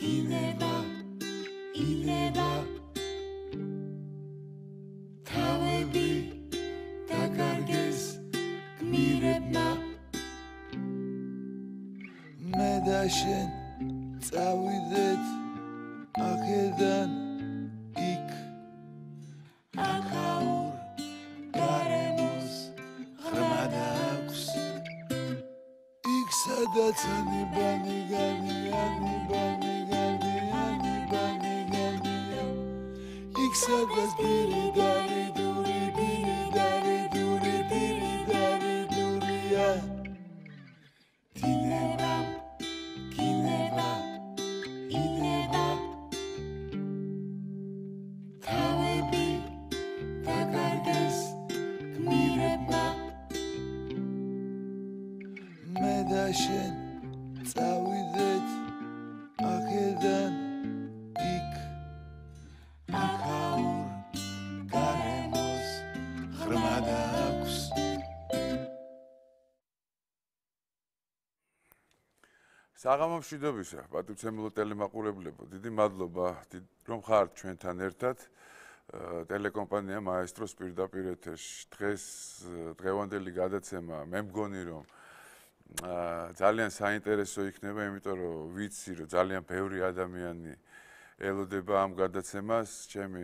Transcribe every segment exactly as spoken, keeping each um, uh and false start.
გინება ინება თავები დაკარგეს გმირებმა მე და შენ წავიდეთ აქედან იქ ახაურ გარემოს ღრმა დააქვს იქ სადაც ანიბანი განი ანიბანი განი ანიბანი განია იქ სადაც ბირი დარი დური ბირი დარი დური ბირი დარი დურია დინება გინება ინება თავები დაკარგეს გმირებმა მე და შენ წავიდეთ აქედან იქ ახაურ გარემოს ღრმა დააქვს საღამო მშვიდობისა, პატივცემულო ტელემაყურებლებო, დიდი მადლობა, რომ ხართ ჩვენთან ერთად. ტელეკომპანია მაესტროს პირდაპირ ეთერში. დღეს დღევანდელი გადაცემა მე მგონი რომ ძალიან საინტერესო იქნება, იმიტომ რომ ვიცი რომ ძალიან ბევრი ადამიანი ელოდება ამ გადაცემას. ჩემი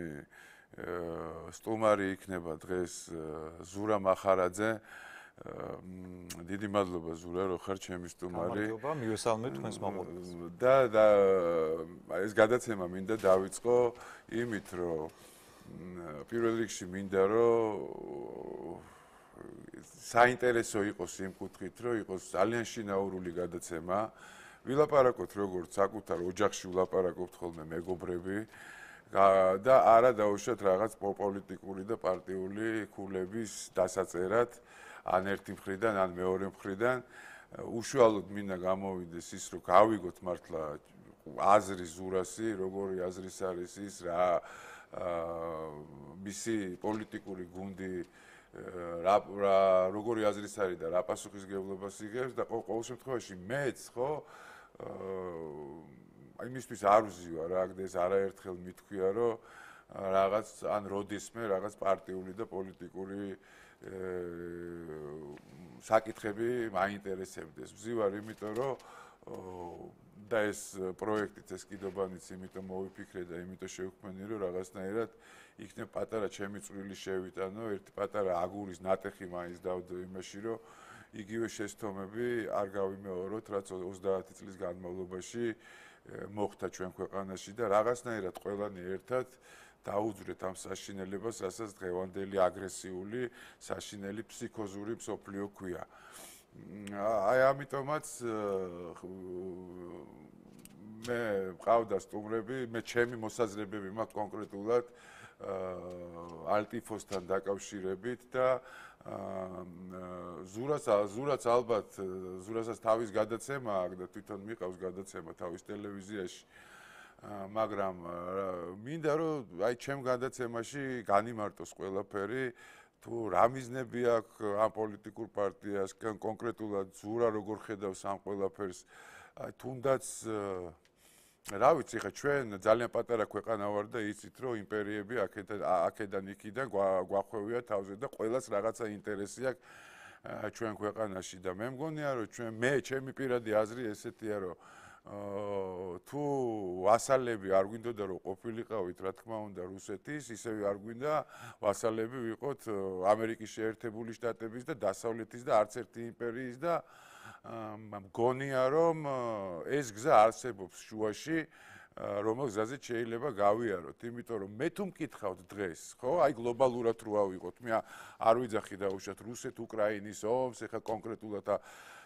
სტუმარი იქნება დღეს ზურა მახარაძე. დიდი მადლობა ზურა რომ ხარ ჩემი სტუმარი. მადლობა, მივესალმე თქვენს მაყურებელს. და და ეს გადაცემა მინდა დავიწყო იმით რომ პირველ რიგში მინდა რომ საინტერესო იყოს იმ კუთხით რომ იყოს ძალიან შინაურული გადაცემა. ვილაპარაკოთ როგორც საკუთარ ოჯახში ვილაპარაკობთ ხოლმე მეგობრები და არა დაუშვათ რაღაც პოლიტიკური და პარტიული ქულების დასაწერად. ან ერთი მხრიდან, ან მეორე მხრიდან უშუალოდ მინდა გამოვიდეს ის, რომ გავიგოთ მართლა აზრი ზურასი, როგორი აზრის არის ის, რა მისი პოლიტიკური გუნდი, რა როგორი აზრის არის და რა პასუხისმგებლობას იღებს და ყოველ შემთხვევაში მეც, ხო, იმისთვის არ ვზივარ, რა, ეს არაერთხელ მithქვია, რომ რაღაც ან როდესმე რაღაც პარტიული და პოლიტიკური საკითხები მაინტერესებდეს. ვზივარ, იმიტომ რომ და ეს პროექტიც ეს კიდობანიც იმიტომ მოვიფიქრე და იმიტომ შევქმნი, რომ რაღაცნაირად იქნებ პატარა ჩემი წვრილი შევიტანო, ერთი პატარა აგურის ნატეხი მაინც დავდო იმაში, რომ იგივე შეცდომები არ გავიმეოროთ, რაც ოცდაათი წლის განმავლობაში მოხდა ჩვენ ქვეყანაში და რაღაცნაირად ყველანი ერთად დაუძვრეთ ამ საშინელებას, რასაც დღევანდელი აგრესიული, საშინელი ფსიქოზური მსოფლიო ქვია. აი ამიტომაც მე მყავდა სტუმრები, მე ჩემი მოსაზრებები მაქვს კონკრეტულად ალტიფოსთან დაკავშირებით და ზურას ზურაც ალბათ ზურასაც თავის გადაცემა აქვს და თვითონ მიყავს გადაცემა თავის ტელევიზიაში. მაგრამ მინდა რომ აი ჩემ გადაცემაში განიმარტოს ყველაფერი თუ რა მიზნები აქვს ამ პოლიტიკურ პარტიას კონკრეტულად ზურა როგორ ხედავს ამ ყველაფერს აი თუნდაც რა ვიცი ხა ჩვენ ძალიან პატარა ქვეყანა ვარ და იცით რომ იმპერიები აქედან აქედან იქიდან გვახვევია თავზე და ყველას რაღაცა ინტერესი აქვს ჩვენ ქვეყანაში და მე მგონია რომ ჩვენ მე ჩემი პირადი აზრი ესეთია რომ თუ ვასალები არ გვინდოდა რომ ყოფილიყავით რა თქმა უნდა რუსეთის ისევე არ გვინდა ვასალები ვიყოთ ამერიკის შეერთებული შტატების და დასავლეთის და არც ერთი იმპერიის და მგონია რომ ეს გზა არსებობს შუაში რომელ გზაზეც შეიძლება გავიაროთ იმიტომ რომ მე თუ მკითხავთ დღეს ხო აი გლობალურად რო ავიღოთ მე არ ვიძახი დაუშვათ რუსეთ უკრაინის ომს ეხა კონკრეტულად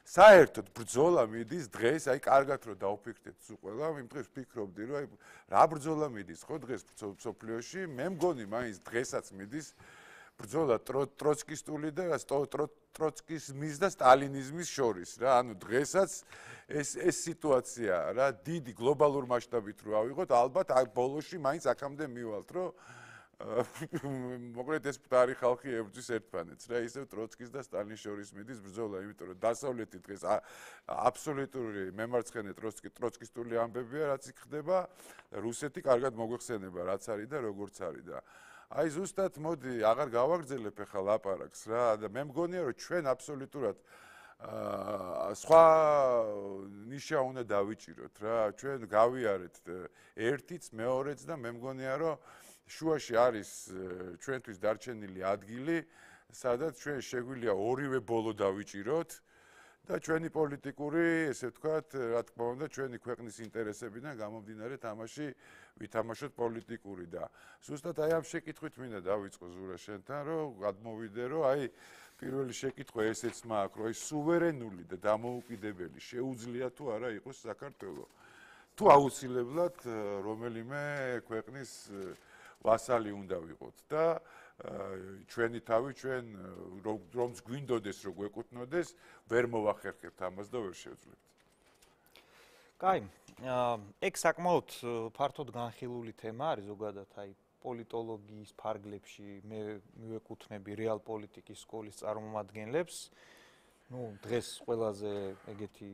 საერთოდ ბრძოლა მიდის დღეს აი კარგად რომ დავფიქრდეთ სულ ყველა იმ დღეს ვფიქრობდი რომ აი რა ბრძოლა მიდის ხო დღეს მსოფლიოში მე მგონი მაინც დღესაც მიდის ბრძოლა ტროცკისტული და ტროცკიზმის და სტალინიზმის შორის რა ანუ დღესაც ეს ეს სიტუაცია რა დიდი გლობალურ მასშტაბით რო ავიღოთ ალბათ აი ბოლოში მაინც აქამდე მივალთ რომ მოკლედ ეს მკვდარი ხალხი ებრძვის ერთმანეთს რა, ისევ ტროცკის და სტალინის შორის მიდის ბრძოლა, იმიტომ რომ დასავლეთი დღეს აბსოლუტური მემარცხენე ტროცკი ტროცკისტული ამბებია, რაც იქ ხდება, რუსეთი კარგად მოგვეხსენება, რაც არის და როგორც არის და აი ზუსტად მოდი, აღარ გავაგრძელებ ახლა ლაპარაკს რა და მე მგონია რომ ჩვენ აბსოლუტურად აა სხვა ნიშა უნდა დავიჭიროთ რა, ჩვენ გავიარეთ ერთიც, მეორეც და მე მგონია რომ შუაში არის ჩვენთვის დარჩენილი ადგილი, სადაც ჩვენ შეგვიძლია ორივე ბოლო დავიჭიროთ და ჩვენი პოლიტიკური, ესე ვთქვათ, რა თქმა უნდა, ჩვენი ქვეყნის ინტერესებიდან გამომდინარე თამაში ვითამაშოთ პოლიტიკური და ზუსტად აი ამ შეკითხვით მინდა დავიწყო ზურა შენთან, რომ გადმოვიდე, რომ აი პირველი შეკითხვა ესეც მაქვს, რომ აი სუვერენული და დამოუკიდებელი შეუძლია თუ არა იყოს საქართველო. თუ აუცილებლად რომელიმე ქვეყნის ვასალი უნდა ვიყოთ და ჩვენი თავი ჩვენ რომც გვინდოდეს რომ გვეკუთვნოდეს ვერ მოვახერხებთ ამას და ვერ შევძლებთ. კაი, ეგ საკმაოდ ფართოდ განხილული თემა არის ზოგადად აი პოლიტოლოგიის ფარგლებში მე მივეკუთვნები რეალ პოლიტიკის სკოლის წარმომადგენლებს. ნუ დღეს ყველაზე ეგეთი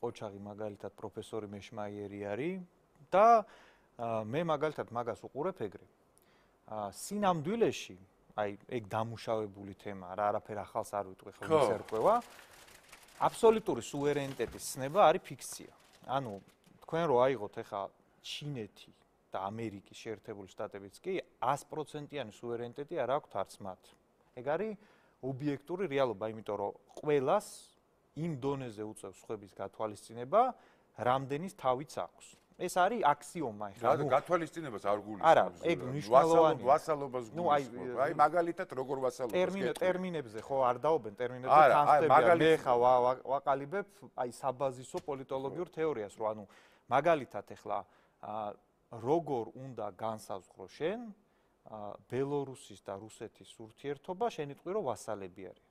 ყოჩაღი მაგალითად პროფესორი მეშმაიერი არის და მე მაგალითად მაგას უყურებ ეგრე. სინამდვილეში, აი ეგ დამუშავებული თემა, რა არაფერ ახალს არ ვიტყვი ხოლმე ერკვევა. აბსოლუტური სუვერენიტეტის ცნება არის ფიქცია. ანუ თქვენ რო აიღოთ ახლა ჩინეთი და ამერიკის შეერთებული შტატებიც კი ას პროცენტიანი სუვერენიტეტი არ აქვთ არც მათ. ეგ არის ობიექტური რეალობა, იმიტომ რომ ყველას იმ დონეზე უწევს სხვების გათვალისწინება, რამდენის თავიც აქვს. ეს არის აქსიომა ახლა. რა გათვალისწინებას არ გულისხმობს. არა, ეგ მნიშვნელოვანია. ვასალობას გულისხმობს. აი მაგალითად როგორ ვასალობას გეტყვი. ტერმინებზე ხო არ დაობენ ტერმინებზე თანხმდებიან. მე ხა ვაყალიბებ აი საბაზისო პოლიტოლოგიურ თეორიას, რომ ანუ მაგალითად ახლა როგორ უნდა განსაზღვრო შენ ბელორუსის და რუსეთის ურთიერთობა, შენ იტყვი რომ ვასალები არიან.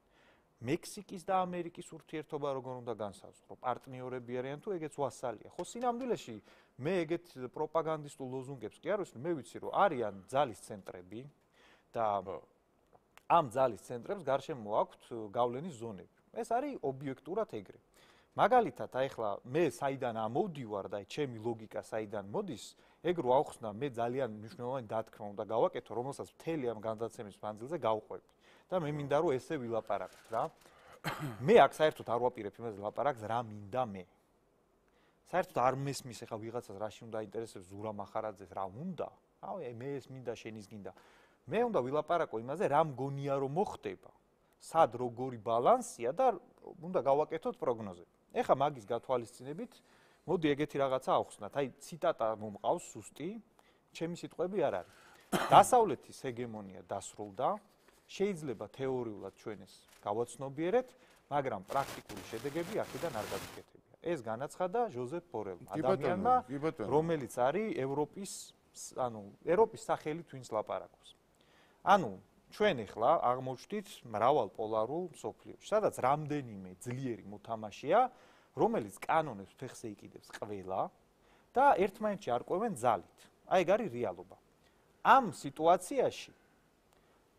მექსიკის და ამერიკის ურთიერთობა როგორ უნდა განსაზღვრო? პარტნიორები არიან თუ ეგეც ვასალია? ხო, სინამდვილეში მე ეგეთ პროპაგანდისტულ ლოზუნგებს კი არ ვისმენ, მე ვიცი რომ არიან ძალის ცენტრები და ამ ძალის ცენტრებს გარშემო აქვთ გავლენის ზონები. ეს არის ობიექტურად ეგრე. მაგალითად, აი ახლა მე საიდან ამოვდივარ და ჩემი ლოგიკა საიდან მოდის, ეგ რო ავხსნა, მე ძალიან მნიშვნელოვანი დათქმა უნდა გავაკეთო, რომელსაც მთელი ამ განსაცემის მანძილზე გავყვები. და მე მინდა რომ ესე ვილაპარაკოთ რა. მე აქ საერთოდ არ ვაპირებ იმაზე ლაპარაკს რა მინდა მე. საერთოდ არ მესმის ახლა ვიღაცას რაში უნდა აინტერესებს ზურა მახარაძეს რა უნდა? აი მე ეს მინდა შენის გინდა. მე უნდა ვილაპარაკო იმაზე რა მგონია რომ მოხდება. სად როგორი ბალანსია და უნდა გავაკეთოთ პროგნოზები. ეხლა მაგის გათვალისწინებით მოდი ეგეთი რაღაცა ავხსნათ. აი ციტატა მომყავს სუსტი, ჩემი სიტყვები არ არის. დასავლეთის ჰეგემონია დასრულდა. შეიძლება თეორიულად ჩვენ ეს გავაცნობიერეთ, მაგრამ პრაქტიკული შედეგები აქედან არ გაგიკეთებია. ეს განაცხადა ჟოზეფ ბორელმა, ადამიანმა, რომელიც არის ევროპის, ანუ ევროპის სახელით ვინც ლაპარაკობს. ანუ ჩვენ ახლა აღმოჩნდით მრავალ პოლარულ მსოფლიოში, სადაც რამდენიმე ძლიერი მოთამაშეა, რომელიც კანონებს ფეხზე იკიდებს ყველა და ერთმანეთში არკვევენ ძალით. აი ეგ არის რეალობა. ამ სიტუაციაში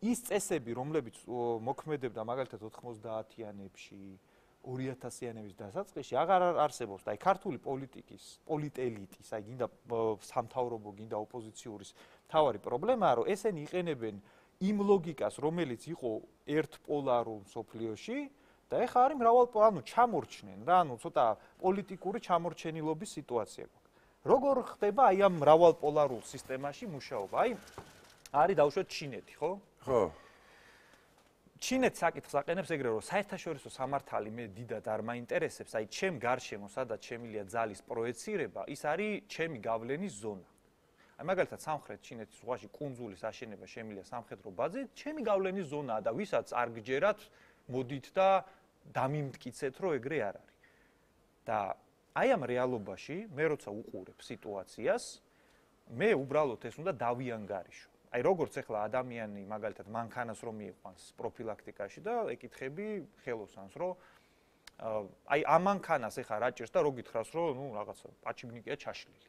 ის წესები, რომლებიც მოქმედებდა მაგალითად ოთხმოცდაათიანებში, ორი ათასიანების დასაწყისში, აღარ არსებობს. აი ქართული პოლიტიკის, პოლიტელიტის, აი გინდა სამთავრობო, გინდა ოპოზიციური მთავარი პრობლემაა, რომ ესენი იყენებენ იმ ლოგიკას, რომელიც იყო ერთპოლარულ მსოფლიოში და ეხლა არის მრავალ, ანუ ჩამორჩნენ რა, ანუ ცოტა პოლიტიკური ჩამორჩენილობის სიტუაცია გვაქვს. როგორ ხდება აი ამ მრავალპოლარულ სისტემაში მუშაობა? აი არის დავუშვათ ჩინეთი, ხო? ხო. ჩინეთი საკითხს აყენებს ეგრე, რომ საერთაშორისო სამართალი მე დიდად არ მაინტერესებს, აი ჩემ გარშემო, სადაც შემილია ძალის პროექცირება, ის არის ჩემი გავლენის ზონა. აი მაგალითად სამხრეთ ჩინეთის ზღვაში კუნძულის აშენება შემილია სამხედრო ბაზით, ჩემი გავლენის ზონაა და ვისაც არ გჯერათ, მოდით და დამიმტკიცეთ, რომ ეგრე არ არის. და აი ამ რეალობაში მე როცა უყურებ სიტუაციას, მე უბრალოდ ეს უნდა დავიანგარიშო. აი როგორც ახლა ადამიანი მაგალითად მანქანას რომ მიიყვანს პროფილაქტიკაში და ეკითხები ხელოსანს, რომ აი ამ მანქანას ახლა რა ჭირს და რო გითხრას, რომ ნუ რაღაცა პაჩიბნიკია ჩაშლილი.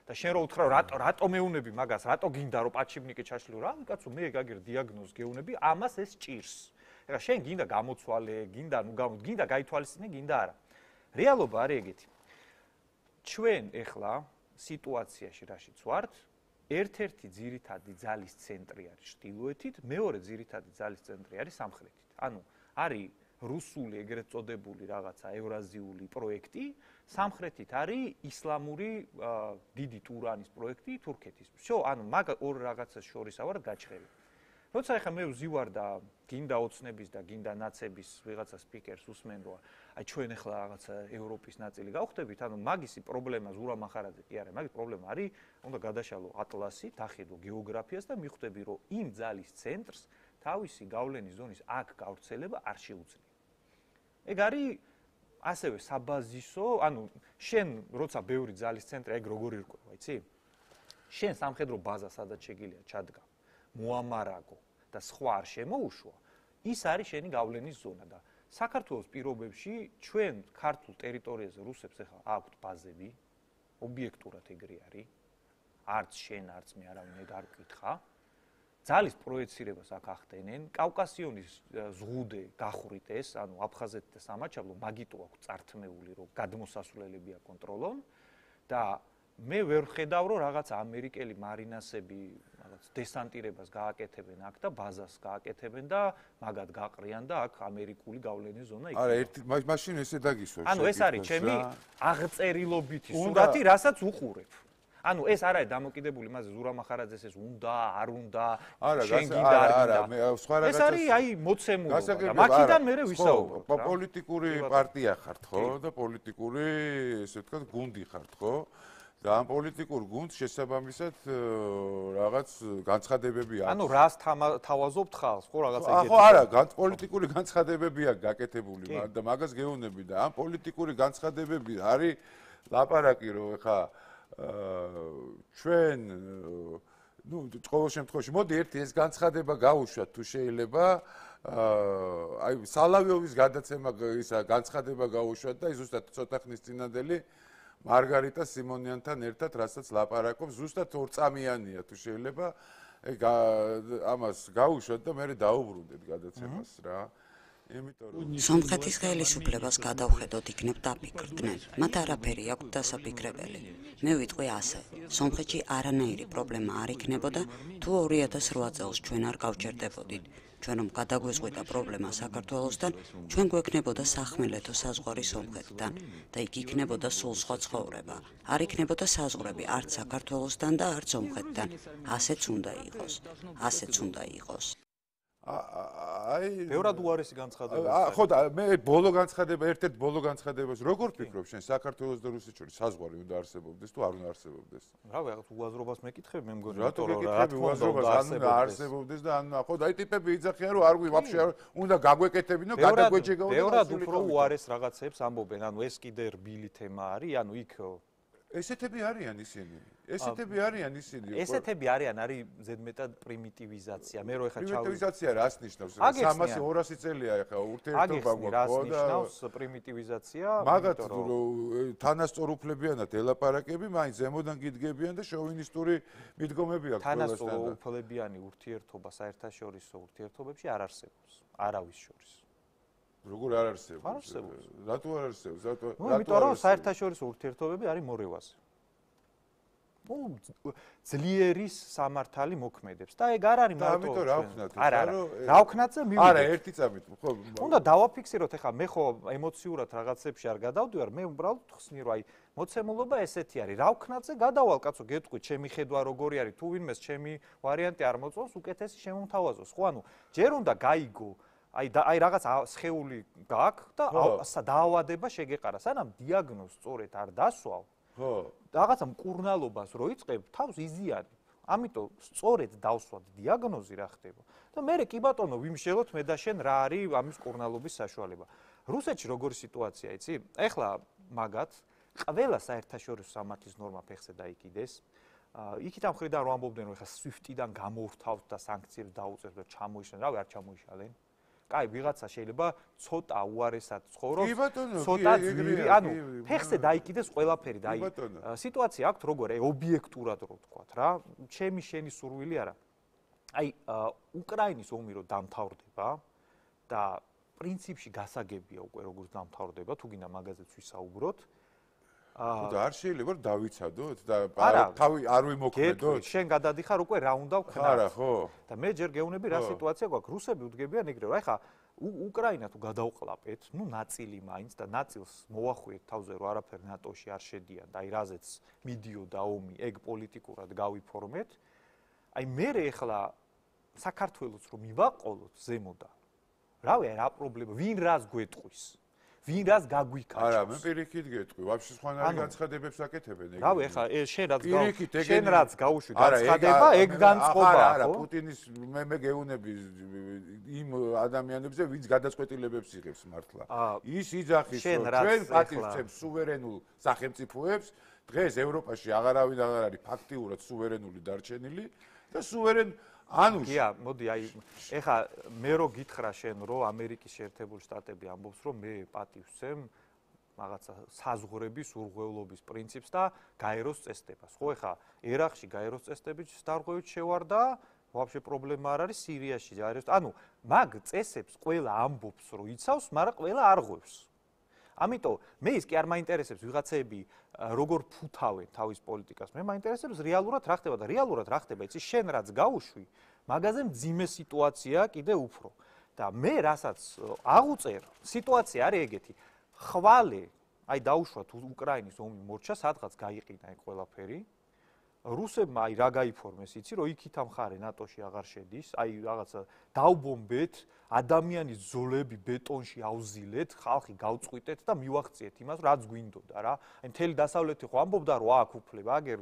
და შენ რო უთხრა რატო რატო მეუნები მაგას, რატო გინდა რომ პაჩიბნიკი ჩაშლიო, რა კაცო მე გაგერ დიაგნოზს გეუნები, ამას ეს ჭირს. ეხლა შენ გინდა გამოცვალე, გინდა ნუ გამო, გინდა გაითვალისწინე, გინდა არა. რეალობა არის ეგეთი. ჩვენ ეხლა სიტუაციაში რაშიც ვართ, ერთ-ერთი ძირითადი ძალის ცენტრი არის ჩრდილოეთით, მეორე ძირითადი ძალის ცენტრი არის სამხრეთით. ანუ არის რუსული ეგრეთ წოდებული რაღაცა ევრაზიული პროექტი, სამხრეთით არის ისლამური დიდი ტურანის პროექტი თურქეთის. всё, ანუ მაგ ორ რაღაცას შორისა ვარ გაჩხერი. როცა ახლა მე ვზივარ და გინდა ოცნების და გინდა ნაცების ვიღაცა სპიკერს უსმენ რომ აი ჩვენ ახლა რაღაცა ევროპის ნაწილი გავხდებით, ანუ მაგისი პრობლემა ზურა მახარაძე კი არა, მაგის პრობლემა არის, უნდა გადაშალო ატლასი, დახედო გეოგრაფიას და მიხვდები რომ იმ ძალის ცენტრს თავისი გავლენის ზონის აქ გავრცელება არ შეუძლია. ეგ არის ასევე საბაზისო, ანუ შენ როცა ბევრი ძალის ცენტრი ეგ როგორ ირკვევა, იცი? შენ სამხედრო ბაზა სადაც შეგიძლია ჩადგა, მოამარაგო და სხვა არ შემოუშვა, ის არის შენი გავლენის ზონა და საქართველოს პირობებში ჩვენ ქართულ ტერიტორიაზე რუსებს ახლა აქვთ ბაზები, ობიექტურად ეგრე არის, არც შენ, არც მე არავინ ეგ არ გკითხა. ძალის პროექცირებას აქ ახდენენ, კავკასიონის ზღუდე გახვრით ეს, ანუ აფხაზეთი და სამაჩაბლო მაგიტო აქვს წართმეული, რომ გადმოსასვლელები აკონტროლონ და მე ვერ ხედავ, რომ რაღაც ამერიკელი მარინასები რაღაც დესანტირებას გააკეთებენ აქ და ბაზას გააკეთებენ და მაგათ გაყრიან და აქ ამერიკული გავლენის ზონა იქნება. არა, ერთი მაშინ ესე დაგისვა. ანუ ეს არის ჩემი აღწერილობითი სურათი, რასაც უყურებ. ანუ ეს არ არის დამოკიდებული იმაზე ზურა მახარაძეს ეს უნდა, არ უნდა, შენ გინდა, არ გინდა. ეს არის აი მოცემულობა და მაქიდან მე ვისაუბრებ. პოლიტიკური პარტია ხართ, ხო? და პოლიტიკური, ესე ვთქვათ, გუნდი ხართ, ხო? და ამ პოლიტიკურ გუნდს შესაბამისად რაღაც განცხადებები აქვს. ანუ რას თავაზობთ ხალხს, ხო, რაღაცა ეგეთი. ხო, არა, პოლიტიკური განცხადებები აქვს გაკეთებული და მაგას გეუბნები და ამ პოლიტიკური განცხადებები არის ლაპარაკი, რომ ეხა ჩვენ ну ყოველ შემთხვევაში მოდი ერთი ეს განცხადება გავუშვათ თუ შეიძლება აი სალავიოვის გადაცემა ისა განცხადება გავუშვათ და ზუსტად ცოტა ხნის წინანდელი მარგარიტა სიმონიანთან ერთად რასაც ლაპარაკობს ზუსტად ორწამიანია თუ შეიძლება ეგ ამას გავუშვათ და მე დაუბრუნდეთ გადაცემას რა სომხეთის ხელისუფლებას გადავხედოთ იქნებ დაფიქრდნენ. მათ არაფერი აქვთ დასაფიქრებელი. მე ვიტყვი ასე. სომხეთში არანაირი პრობლემა არ იქნებოდა, თუ ორი ათას რვა წელს ჩვენ არ გავჩერდებოდით. ჩვენ რომ გადაგვეწყვეტა პრობლემა საქართველოსთან, ჩვენ გვექნებოდა სახმელეთო საზღვარი სომხეთთან და იქ იქნებოდა სულ სხვა ცხოვრება. არ იქნებოდა საზღვრები არც საქართველოსთან და არც სომხეთთან. ასეც უნდა იყოს. ასეც უნდა იყოს. აი ბევრად უარესი განცხადება. ხო და მე ბოლო განცხადება, ერთ-ერთ ბოლო განცხადებას როგორ ფიქრობ შენ საქართველოს და რუსეთის შორის საზღვარი უნდა არსებობდეს თუ არ უნდა არსებობდეს? რა ვიღაც უაზრობას მეკითხები მე მგონი რატო მეკითხები უაზრობას ან უნდა არსებობდეს და ან ხო და აი ტიპები იძახიან რომ არ გვი ვაფშე უნდა გაგვეკეთებინო გადაგვეჭეგაო და ბევრად უფრო უარეს რაღაცებს ამბობენ ანუ ეს კიდე რბილი თემა არის ანუ იქ ესეთები არიან ისინი ესეთები არიან ისინი ესეთები არიან არის ზედმეტად პრიმიტივიზაცია მე რო ეხა ჩავ პრიმიტივიზაცია რას ნიშნავს სამასი ორასი წელია ეხა ურთიერთობა გვაქვს ხო და ნიშნავს პრიმიტივიზაცია მაგათ თანასწორ უფლებიანად ელაპარაკები მაინც ზემოდან გიდგებიან და შოვინისტური მიდგომები აქვს თანასწორ უფლებიანი ურთიერთობა საერთაშორისო ურთიერთობებში არ არსებობს არავის შორის როგორ არ არსებობს? რატო არ არსებობს? რატო? ნუ იმიტომ რომ საერთაშორისო ურთიერთობები არის მორევაზე. ნუ ძლიერის სამართალი მოქმედებს და ეგ არ არის მარტო ამიტომ რა ვქნათ? არა, რა ვქნათზე მივიდეთ. არა, ერთი წამით, ხო. უნდა დავაფიქსიროთ ახლა მე ხო ემოციურად რაღაცებში არ გადავდივარ, მე უბრალოდ ხსნი რომ აი მოცემულობა ესეთი არის. რა ვქნათზე გადავალ კაცო, გეტყვი, ჩემი ხედვა როგორი არის, თუ ვინმეს ჩემი ვარიანტი არ მოწონს, უკეთესი შემომთავაზოს. ხო, ანუ ჯერ უნდა გაიგო აი აი რაღაც სხეული გაქვს და დაავადება შეგეყარა. სანამ დიაგნოზს სწორედ არ დასვავ, ხო. რაღაცა მკურნალობას რო იწყებ, თავს იზიანებ. ამიტომ სწორედ დავსვათ დიაგნოზი რა ხდება. და მე კი ბატონო ვიმშელოთ მე და შენ რა არის ამის მკურნალობის საშუალება. რუსეთში როგორი სიტუაცია იცი? ეხლა მაგათ ყველა საერთაშორისო სამართლის ნორმა ფეხზე დაიკიდეს. იქით ამ ხრიდან რომ ამბობდნენ რომ ეხლა სვიფტიდან გამოვრთავთ და სანქციებს დაუწევთ და ჩამოიშალენ, რავი არ ჩამოიშალენ. კაი, ვიღაცა შეიძლება ცოტა უარესად ცხოვრობს, კი ბატონო, ცოტა კი, ეგრეა, ძვირი, კი, ანუ კი, ფეხზე დაიკიდეს ყველაფერი და კი, აი ბატონო. სიტუაცია აქვს როგორ, აი ობიექტურად რო ვთქვათ რა, ჩემი შენი სურვილი არა. აი უკრაინის ომი რო დამთავრდება და პრინციპში გასაგებია უკვე როგორც დამთავრდება, თუ გინდა მაგაზეც ვისაუბროთ. აა და არ შეიძლება რომ დავიცადოთ და არა, თავი არ ვიმოქმედოთ. შენ გადადიხარ უკვე რა უნდა ვქნათ. არა, ხო? და მე ჯერ გეუბნები რა სიტუაცია გვაქვს. რუსები უდგებიან ეგრევე, რა ეხა უკრაინა თუ გადავყლაპეთ, ნუ ნაწილი მაინც და ნაწილს მოვახვიეთ თავზე რომ არაფერ ნატოში არ შედიან და აი რაზეც მიდიოდა ომი, ეგ პოლიტიკურად გავიფორმეთ. აი მე ეხლა საქართველოს რომ მივაყოლოთ ზემოდან. რავი, რა პრობლემა, ვინ რას გვეტყვის? ვინ რას გაგვიქაჩავს? არა, მე პირიქით გეტყვი, ვაფშე სხვანაირი განცხადებებს აკეთებენ ეგ. რავი, ეხლა შენ რაც პირიქით ეგ შენ რაც გაუშვი განცხადება, ეგ განწყობა, ხო? არა, პუტინის მე მე გეუნები იმ ადამიანებზე, ვინც გადაწყვეტილებებს იღებს მართლა. ის იძახის, რომ ჩვენ პატივცემს სუვერენულ სახელმწიფოებს, დღეს ევროპაში აღარავინ აღარ არის ფაქტიურად სუვერენული დარჩენილი და სუვერენ ანუ გია, მოდი აი ეხა მე რო გითხრა შენ რომ ამერიკის შეერთებული შტატები ამბობს რომ მე პატივცემ რაღაცა საზღვრების ურღვევლობის პრინციპს და გაეროს წესდებას. ხო ეხა ერაყში გაეროს წესდების დარღვევით შევარდა, ვაფშე პრობლემა არ არის სირიაში გაეროს. ანუ მაგ წესებს ყველა ამბობს რომ იცავს, მაგრამ ყველა არ ღვევს. ამიტომ მე ის კი არ მაინტერესებს ვიღაცები როგორ ფუთავენ თავის პოლიტიკას. მე მაინტერესებს რეალურად რა ხდება და რეალურად რა ხდება, იცი შენ რაც გაუშვი, მაგაზე მძიმე სიტუაცია კიდე უფრო. და მე რასაც აღუწერ, სიტუაცია არის ეგეთი. ხვალე, აი დაუშვათ უკრაინის ომი მორჩა, სადღაც გაიყინა ეგ ყველაფერი. რუსებმა აი რა გაიფორმეს, იცი, რომ იქით ამხარე ნატოში აღარ შედის, აი რაღაცა დაუბომბეთ, ადამიანის ზოლები ბეტონში ავზილეთ, ხალხი გავწყვიტეთ და მივახციეთ იმას, რაც გვინდოდა რა. აი მთელი დასავლეთი ხო ამბობდა, რომ აქ უფლება, აგერ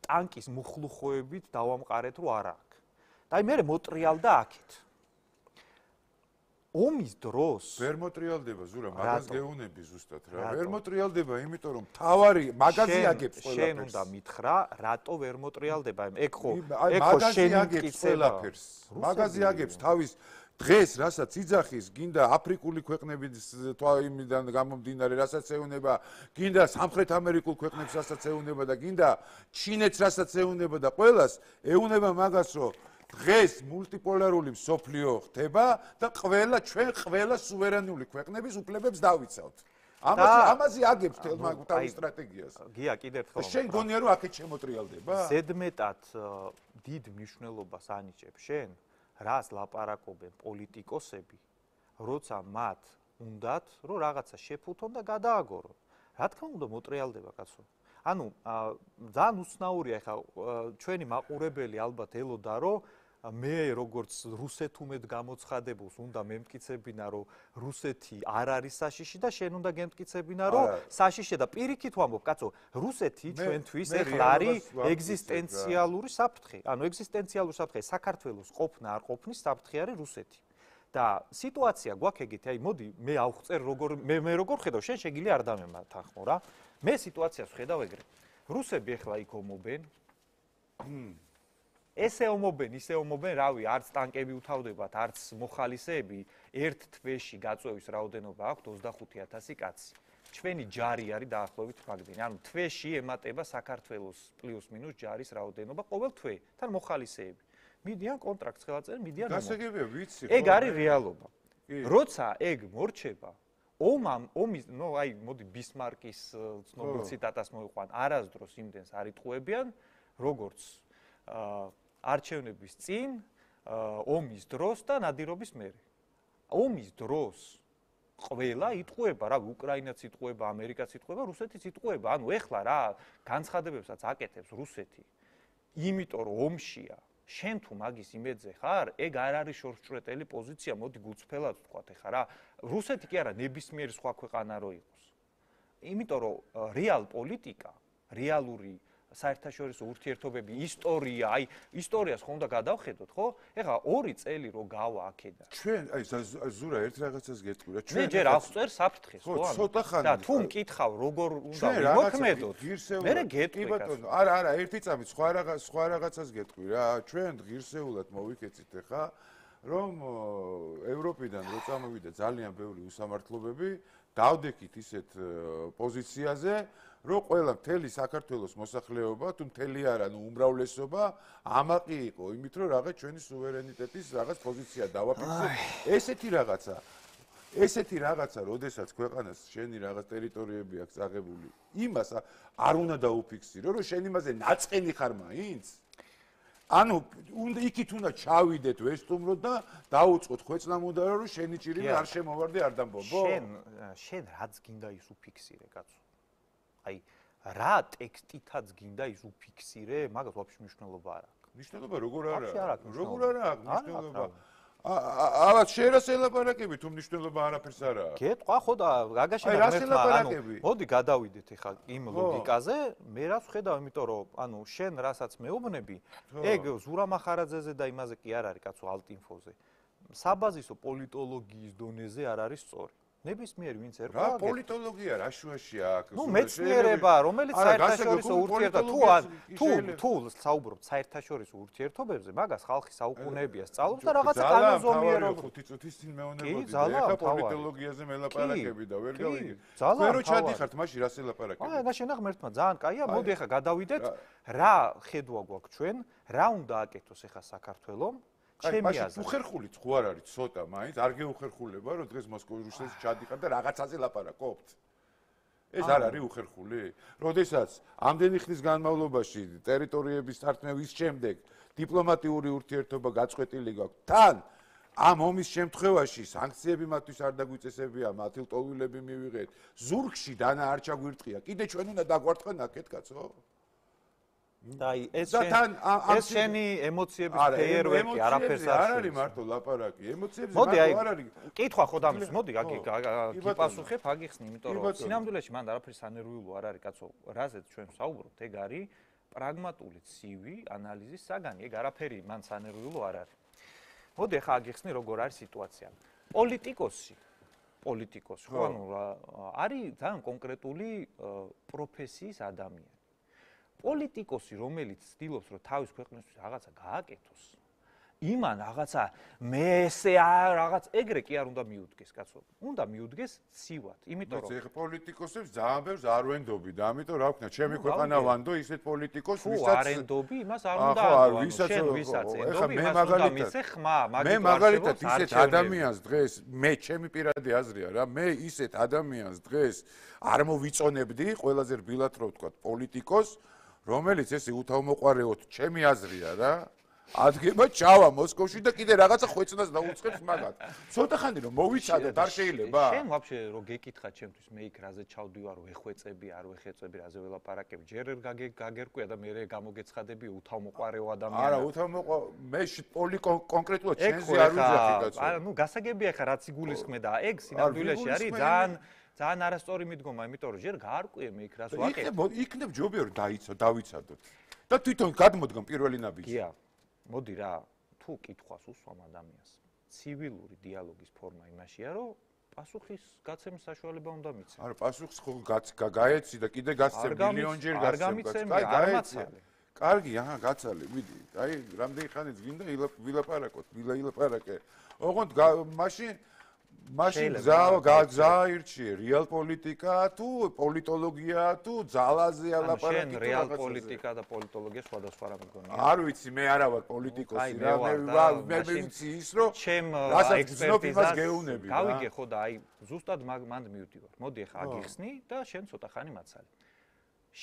ტანკის მუხლუხოებით დავამყარეთ, რომ არა აქ. და აი მე მოტრიალდა აქეთ. ომის დროს ვერ მოტრიალდება ზურა, მაგას გეუნები ზუსტად რა. ვერ მოტრიალდება, იმიტომ რომ თავარი მაგაზი აგებს ყველაფერს. შენ უნდა მითხრა, რატო ვერ მოტრიალდება? ეგ ხო, ეგ ხო შენ აგებს ყველაფერს. მაგაზი აგებს თავის დღეს, რასაც იძახის, გინდა აფრიკული ქვეყნების თვალიმიდან გამომდინარე, რასაც ეუნება, გინდა სამხრეთ ამერიკულ ქვეყნებს, რასაც ეუნება და გინდა ჩინეთს, რასაც ეუნება და ყველას ეუნება მაგას, რომ დღეს მულტიპოლარული მსოფლიო ხდება და ყველა ჩვენ ყველა სუვერენული ქვეყნების უფლებებს დავიცავთ. ამაზე ამაზე აგებს თელმა თავის სტრატეგიას. გია, კიდევ ერთხელ. შენ გონია რომ აქეთ შემოტრიალდება? ზედმეტად დიდ მნიშვნელობას ანიჭებ შენ, რას ლაპარაკობენ პოლიტიკოსები, როცა მათ უნდათ, რომ რაღაცა შეფუთონ და გადააგორონ. რა თქმა უნდა მოტრიალდება კაცო. ანუ ძალიან უცნაურია ხა ჩვენი მაყურებელი ალბათ ელოდა რომ მე როგორც რუსეთუმედ გამოცხადებულს უნდა მემტკიცებინა რომ რუსეთი არ არის საშიში და შენ უნდა გემტკიცებინა რომ საშიშია და პირიქით ვამბობ კაცო რუსეთი ჩვენთვის ეხლა არის ეგზისტენციალური საფრთხე ანუ ეგზისტენციალური საფრთხე საქართველოს ყოფნა არ ყოფნის საფრთხე არის რუსეთი და სიტუაცია გვაქვს ეგეთი აი მოდი მე ავხწერ როგორ მე მე როგორ ხედავ შენ შეგილი არ დამემართახმო რა მე სიტუაციას ვხედავ ეგრე რუსები ეხლა იქ ომობენ ესე ომობენ, ისე ომობენ, რავი, არც ტანკები უთავდებათ, არც მოხალისეები, ერთ თვეში გაწვევის რაოდენობა აქვთ ოცდახუთი ათასი კაცი. ჩვენი ჯარი არის დაახლოებით მაგდენი. ანუ თვეში ემატება საქართველოს პლუს მინუს ჯარის რაოდენობა ყოველ თვე, თან მოხალისეები. მიდიან კონტრაქტს ხელაწერენ, მიდიან ომს. გასაგებია, ვიცი. ეგ არის რეალობა. როცა ეგ მორჩება, ომამ, ომის, ნუ აი, მოდი ბისმარკის ცნობილ ციტატას მოვიყვან, არასდროს იმდენს არ იტყუებიან, როგორც აა არჩევნების წინ, ომის დროს და ნადირობის მერე. ომის დროს ყველა იტყუება, რა, უკრაინაც იტყუება, ამერიკაც იტყუება, რუსეთიც იტყუება. ანუ ეხლა რა, განცხადებებსაც აკეთებს რუსეთი. იმიტომ რომ ომშია, შენ თუ მაგის იმედზე ხარ, ეგ არ არის შორსჭრეტელი პოზიცია, მოდი გულწრფელად ვთქვათ ეხლა რა. რუსეთი კი არა, ნებისმიერი სხვა ქვეყანა რო იყოს. იმიტომ რომ რეალ პოლიტიკა, რეალური საერთაშორისო ურთიერთობები, ისტორია, აი ისტორიას ხომ უნდა გადავხედოთ, ხო? ეხლა ორი წელი რო გავა აქედან. ჩვენ აი ზურა ერთ რაღაცას გეტყვი რა, ჩვენ მე ჯერ აღწერ საფრთხეს, ხო? ხო, ცოტა ხანი. და თუ მკითხავ როგორ უნდა ვიმოქმედოთ, მე გეტყვი. კი ბატონო, არა, არა, ერთი წამი სხვა რაღაც სხვა რაღაცას გეტყვი რა. ჩვენ ღირსეულად მოვიქეცით ეხლა რომ ევროპიდან რო წამოვიდა ძალიან ბევრი უსამართლობები, დავდექით ისეთ პოზიციაზე, რომ ყველა მთელი საქართველოს მოსახლეობა, თუ მთელი არა, ნუ უმრავლესობა ამაყი იყო იმით, რომ რაღაც ჩვენი სუვერენიტეტის რაღაც პოზიცია დავაფიქსიროთ. ესეთი რაღაცა ესეთი რაღაცა, როდესაც ქვეყანას შენი რაღაც ტერიტორიები აქვს წაღებული, იმას არ უნდა დაუფიქსირო, რომ შენ იმაზე ნაწყენი ხარ მაინც. ანუ უნდა იქით უნდა ჩავიდეთ ვესტუმროთ და დაუწყოთ ხვეწნამუდარა, რომ შენი ჭირი არ შემოვარდე არ დამბობო. შენ შენ რაც გინდა ის უფიქსირე, კაცო. აი რა ტექსტითაც გინდა ის უფიქსირე, მაგას ვაფშე მნიშვნელობა არ აქვს. მნიშვნელობა როგორ არა? ვაფშე არ აქვს. როგორ არა აქვს მნიშვნელობა? ალბათ შეიძლება ელაპარაკები თუ მნიშვნელობა არაფერს არ აქვს. გეტყვა ხო და გაგაშენა მერტმა, ანუ მოდი გადავიდეთ ახლა იმ ლოგიკაზე, მე რაც ვხედავ, იმიტომ რომ ანუ შენ რასაც მეუბნები, ეგ ზურა მახარაძეზე და იმაზე კი არ არის კაცო ალტინფოზე. საბაზისო პოლიტოლოგიის დონეზე არ არის სწორი. ნებისმიერ ვინც ერქვა რა პოლიტოლოგია რა შუაშია აქ ნუ მეცნიერება რომელიც საერთაშორისო ურთიერთობა თუ თუ თუ საუბრობთ საერთაშორისო ურთიერთობებზე მაგას ხალხი საუკუნეებია სწავლობს და რაღაცა კანონზომიერება ხუთი წუთის წინ მეუბნებოდი ეხა პოლიტოლოგიაზე მელაპარაკები და ვერ გავიგე მე რო ჩადიხართ მაშინ რას ელაპარაკები აი გაშენახ მერტმა ძალიან კაია მოდი ეხა გადავიდეთ რა ხედვა გვაქვს ჩვენ რა უნდა აკეთოს ეხა საქართველოს ჩემი აზრით. უხერხულიც ხო არ არის ცოტა, მაინც არ გეუხერხულება, რომ დღეს მოსკოვის რუსეთში ჩადიხარ და რაღაცაზე ლაპარაკობთ. ეს არ არის უხერხული? როდესაც ამდენი ხნის განმავლობაში ტერიტორიების თართმევის შემდეგ დიპლომატიური ურთიერთობა გაწყვეტილი გაქვს თან ამ ომის შემთხვევაში სანქციები მათთვის არ დაგვიწესებია, მათი ლტოლვილები მივიღეთ. ზურგში დანა არ ჩაგვირტყია. კიდე ჩვენ უნდა დაგვარტყან აქეთ, კაცო? და ეს ეს შენი ემოციების ფეიერვერკი არაფერს არ არის მარტო ლაპარაკი ემოციებზე მარტო არ არის კითხვა ხო დამის მოდი გიპასუხებ აგიხსნი იმიტომ რომ სინამდვილეში მანდ არაფერს ანერვიულო არ არის კაცო რაზეც ჩვენ ვსაუბრობთ ეგ არის პრაგმატული ცივი ანალიზის საგანი ეგ არაფერი მან სანერვიულო არ არის მოდი ახლა აგიხსნი როგორ არის სიტუაცია პოლიტიკოსი პოლიტიკოსი ხო ანუ არის ძალიან კონკრეტული პროფესიის ადამიანი პოლიტიკოსი რომელიც ცდილობს რომ თავის ქვეყნისთვის რაღაცა გააკეთოს იმან რაღაცა მე ესე რაღაც ეგრე კი არ უნდა მიუდგეს კაცო უნდა მიუდგეს ცივად იმიტომ რომ ეს პოლიტიკოსებს ძალიან ბევრს არ ვენდობი და ამიტომ რა ვქნა ჩემი ქვეყანა ვანდო ისეთ პოლიტიკოსს ვისაც არ ენდობი იმას არ უნდა ანდო შენ ვისაც ენდობი იმას უნდა მისე ხმა მე მაგალითად ისეთ ადამიანს დღეს მე ჩემი პირადი აზრია რა მე ისეთ ადამიანს დღეს არ მოვიწონებდი ყველაზე რბილად რო ვთქვა პოლიტიკოს რომელიც ესე უთავმოყარეოთ ჩემი აზრია რა ადგება ჩავა მოსკოვში და კიდე რაღაცა ხვეწნას დაუწყებს მაგათ ცოტა ხანი რომ მოვიცადოთ არ შეიძლება შენ ვაფშე რო გეკითხა ჩემთვის მე იქ რაზე ჩავდივარ ვეხვეწები არ ვეხეწები რაზე ველაპარაკები ჯერ ერთ გაგერკვია და მე გამოგეცხადები უთავმოყარეო ადამიანი არა უთავმოყვა მე პოლი კონკრეტულად შენზე არ ვიძახი კაცო არა ნუ გასაგებია ხა რაც იგულისხმე და ეგ სინამდვილეში არის ძალიან ძალიან არასწორი მიდგომა, იმიტომ რომ ჯერ გაარკვიე მე იქ რას ვაკეთებ. იქნებ იქნებ ჯობია რომ დაიცო, დავიცადოთ. და თვითონ გადმოდგამ პირველი ნაბიჯი. გია. მოდი რა, თუ კითხვას უსვამ ადამიანს, ცივილური დიალოგის ფორმა იმაშია, რომ პასუხის გაცემის საშუალება უნდა მიცემ. არა, პასუხს ხო გაეცი და კიდე გასცემ მილიონჯერ გასცემ. არ გამიცემ, არ მაცალე. კარგი, აჰა, გაცალე, მიდი. აი, რამდენი ხანიც გინდა ვილაპარაკოთ, ვილაპარაკე. ოღონდ მაშინ მაშინ გააირჩიე რეალ პოლიტიკა თუ პოლიტოლოგია თუ ძალაზე ალაპარაკი თუ რეალ პოლიტიკა და პოლიტოლოგია სხვადასხვა რამე გონია არ ვიცი მე არა ვარ პოლიტიკოსი რა მე მე ვიცი ის რომ ჩემ ექსპერტიზას გეუნები გავიგე ხო და აი ზუსტად მანდ მივდივარ მოდი ახლა აგიხსნი და შენ ცოტა ხანი მაცალე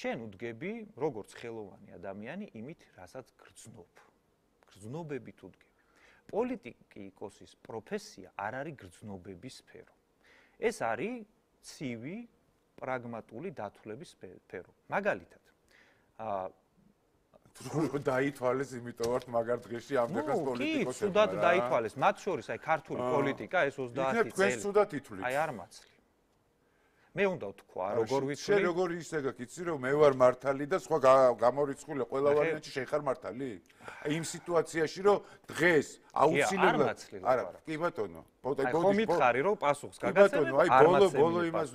შენ უდგები როგორც ხელოვანი ადამიანი იმით რასაც გრძნობ გრძნობებით უდგები პოლიტიკოსის პროფესია არ არის გრძნობების სფერო. ეს არის ცივი, პრაგმატული დათვლების სფერო. მაგალითად, აა თუ დაითვალეს, იმიტომ ვართ მაგარ დღეში ამ დღეს პოლიტიკოსები. კი, სუდად დაითვალეს. მათ შორის აი ქართული პოლიტიკა ეს ოცდაათი წელი. იქნებ თქვენ სუდად ითვლით. აი არ მაცლი. მე უნდა ვთქვა, როგორ ვიცი. შენ როგორ ისე გაკიცი, რომ მე ვარ მართალი და სხვა გამორიცხული ყველა ვარიანტი შენ ხარ მართალი? იმ სიტუაციაში, რომ დღეს აუცილებლად არა, კი ბატონო. აი ხომ მითხარი, რომ პასუხს გაგაცემებ? აი ბოლო ბოლო იმას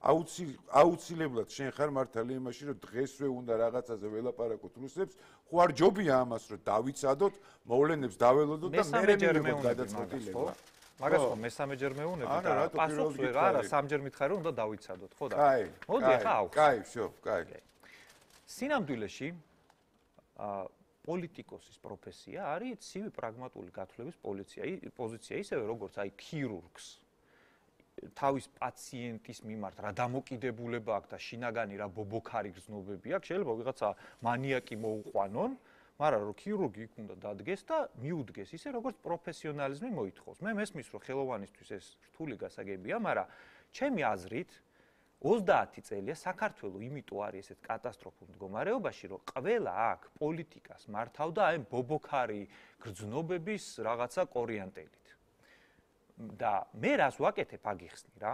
აუცილებლად შენ ხარ მართალი იმაში, რომ დღესვე უნდა რაღაცაზე ველაპარაკოთ რუსებს, ხო არ ჯობია ამას, რომ დავიცადოთ, მოვლენებს დაველოდოთ და მე მივიღოთ გადაწყვეტილება. მაგას ხო მესამეჯერ მეუნები და პასუხს ვერ არა, სამჯერ მითხარი, რომ უნდა დავიცადოთ, ხო და? კაი. მოდი ახლა აუხსნით. კაი, всё, კაი. სინამდვილეში აა პოლიტიკოსის პროფესია არის ცივი პრაგმატული გათვლების პოზიცია, ისევე როგორც აი ქირურგს თავის პაციენტის მიმართ რა დამოკიდებულება აქვს და შინაგანი რა ბობოქარი გრძნობები აქვს, შეიძლება ვიღაცა მანიაკი მოუყვანონ, მაგრამ რომ ქირურგი იქ უნდა დადგეს და მიუდგეს ისე როგორც პროფესიონალიზმი მოითხოვს. მე მესმის რომ ხელოვანისთვის ეს რთული გასაგებია, მაგრამ ჩემი აზრით ოცდაათი წელია საქართველოს იმიტომ არის ესეთ კატასტროფულ მდგომარეობაში, რომ ყველა აქ პოლიტიკას მართავდა აი ბობოქარი გრძნობების რაღაცა კორიანტელით. და მე რას ვაკეთებ აგიხსნი რა.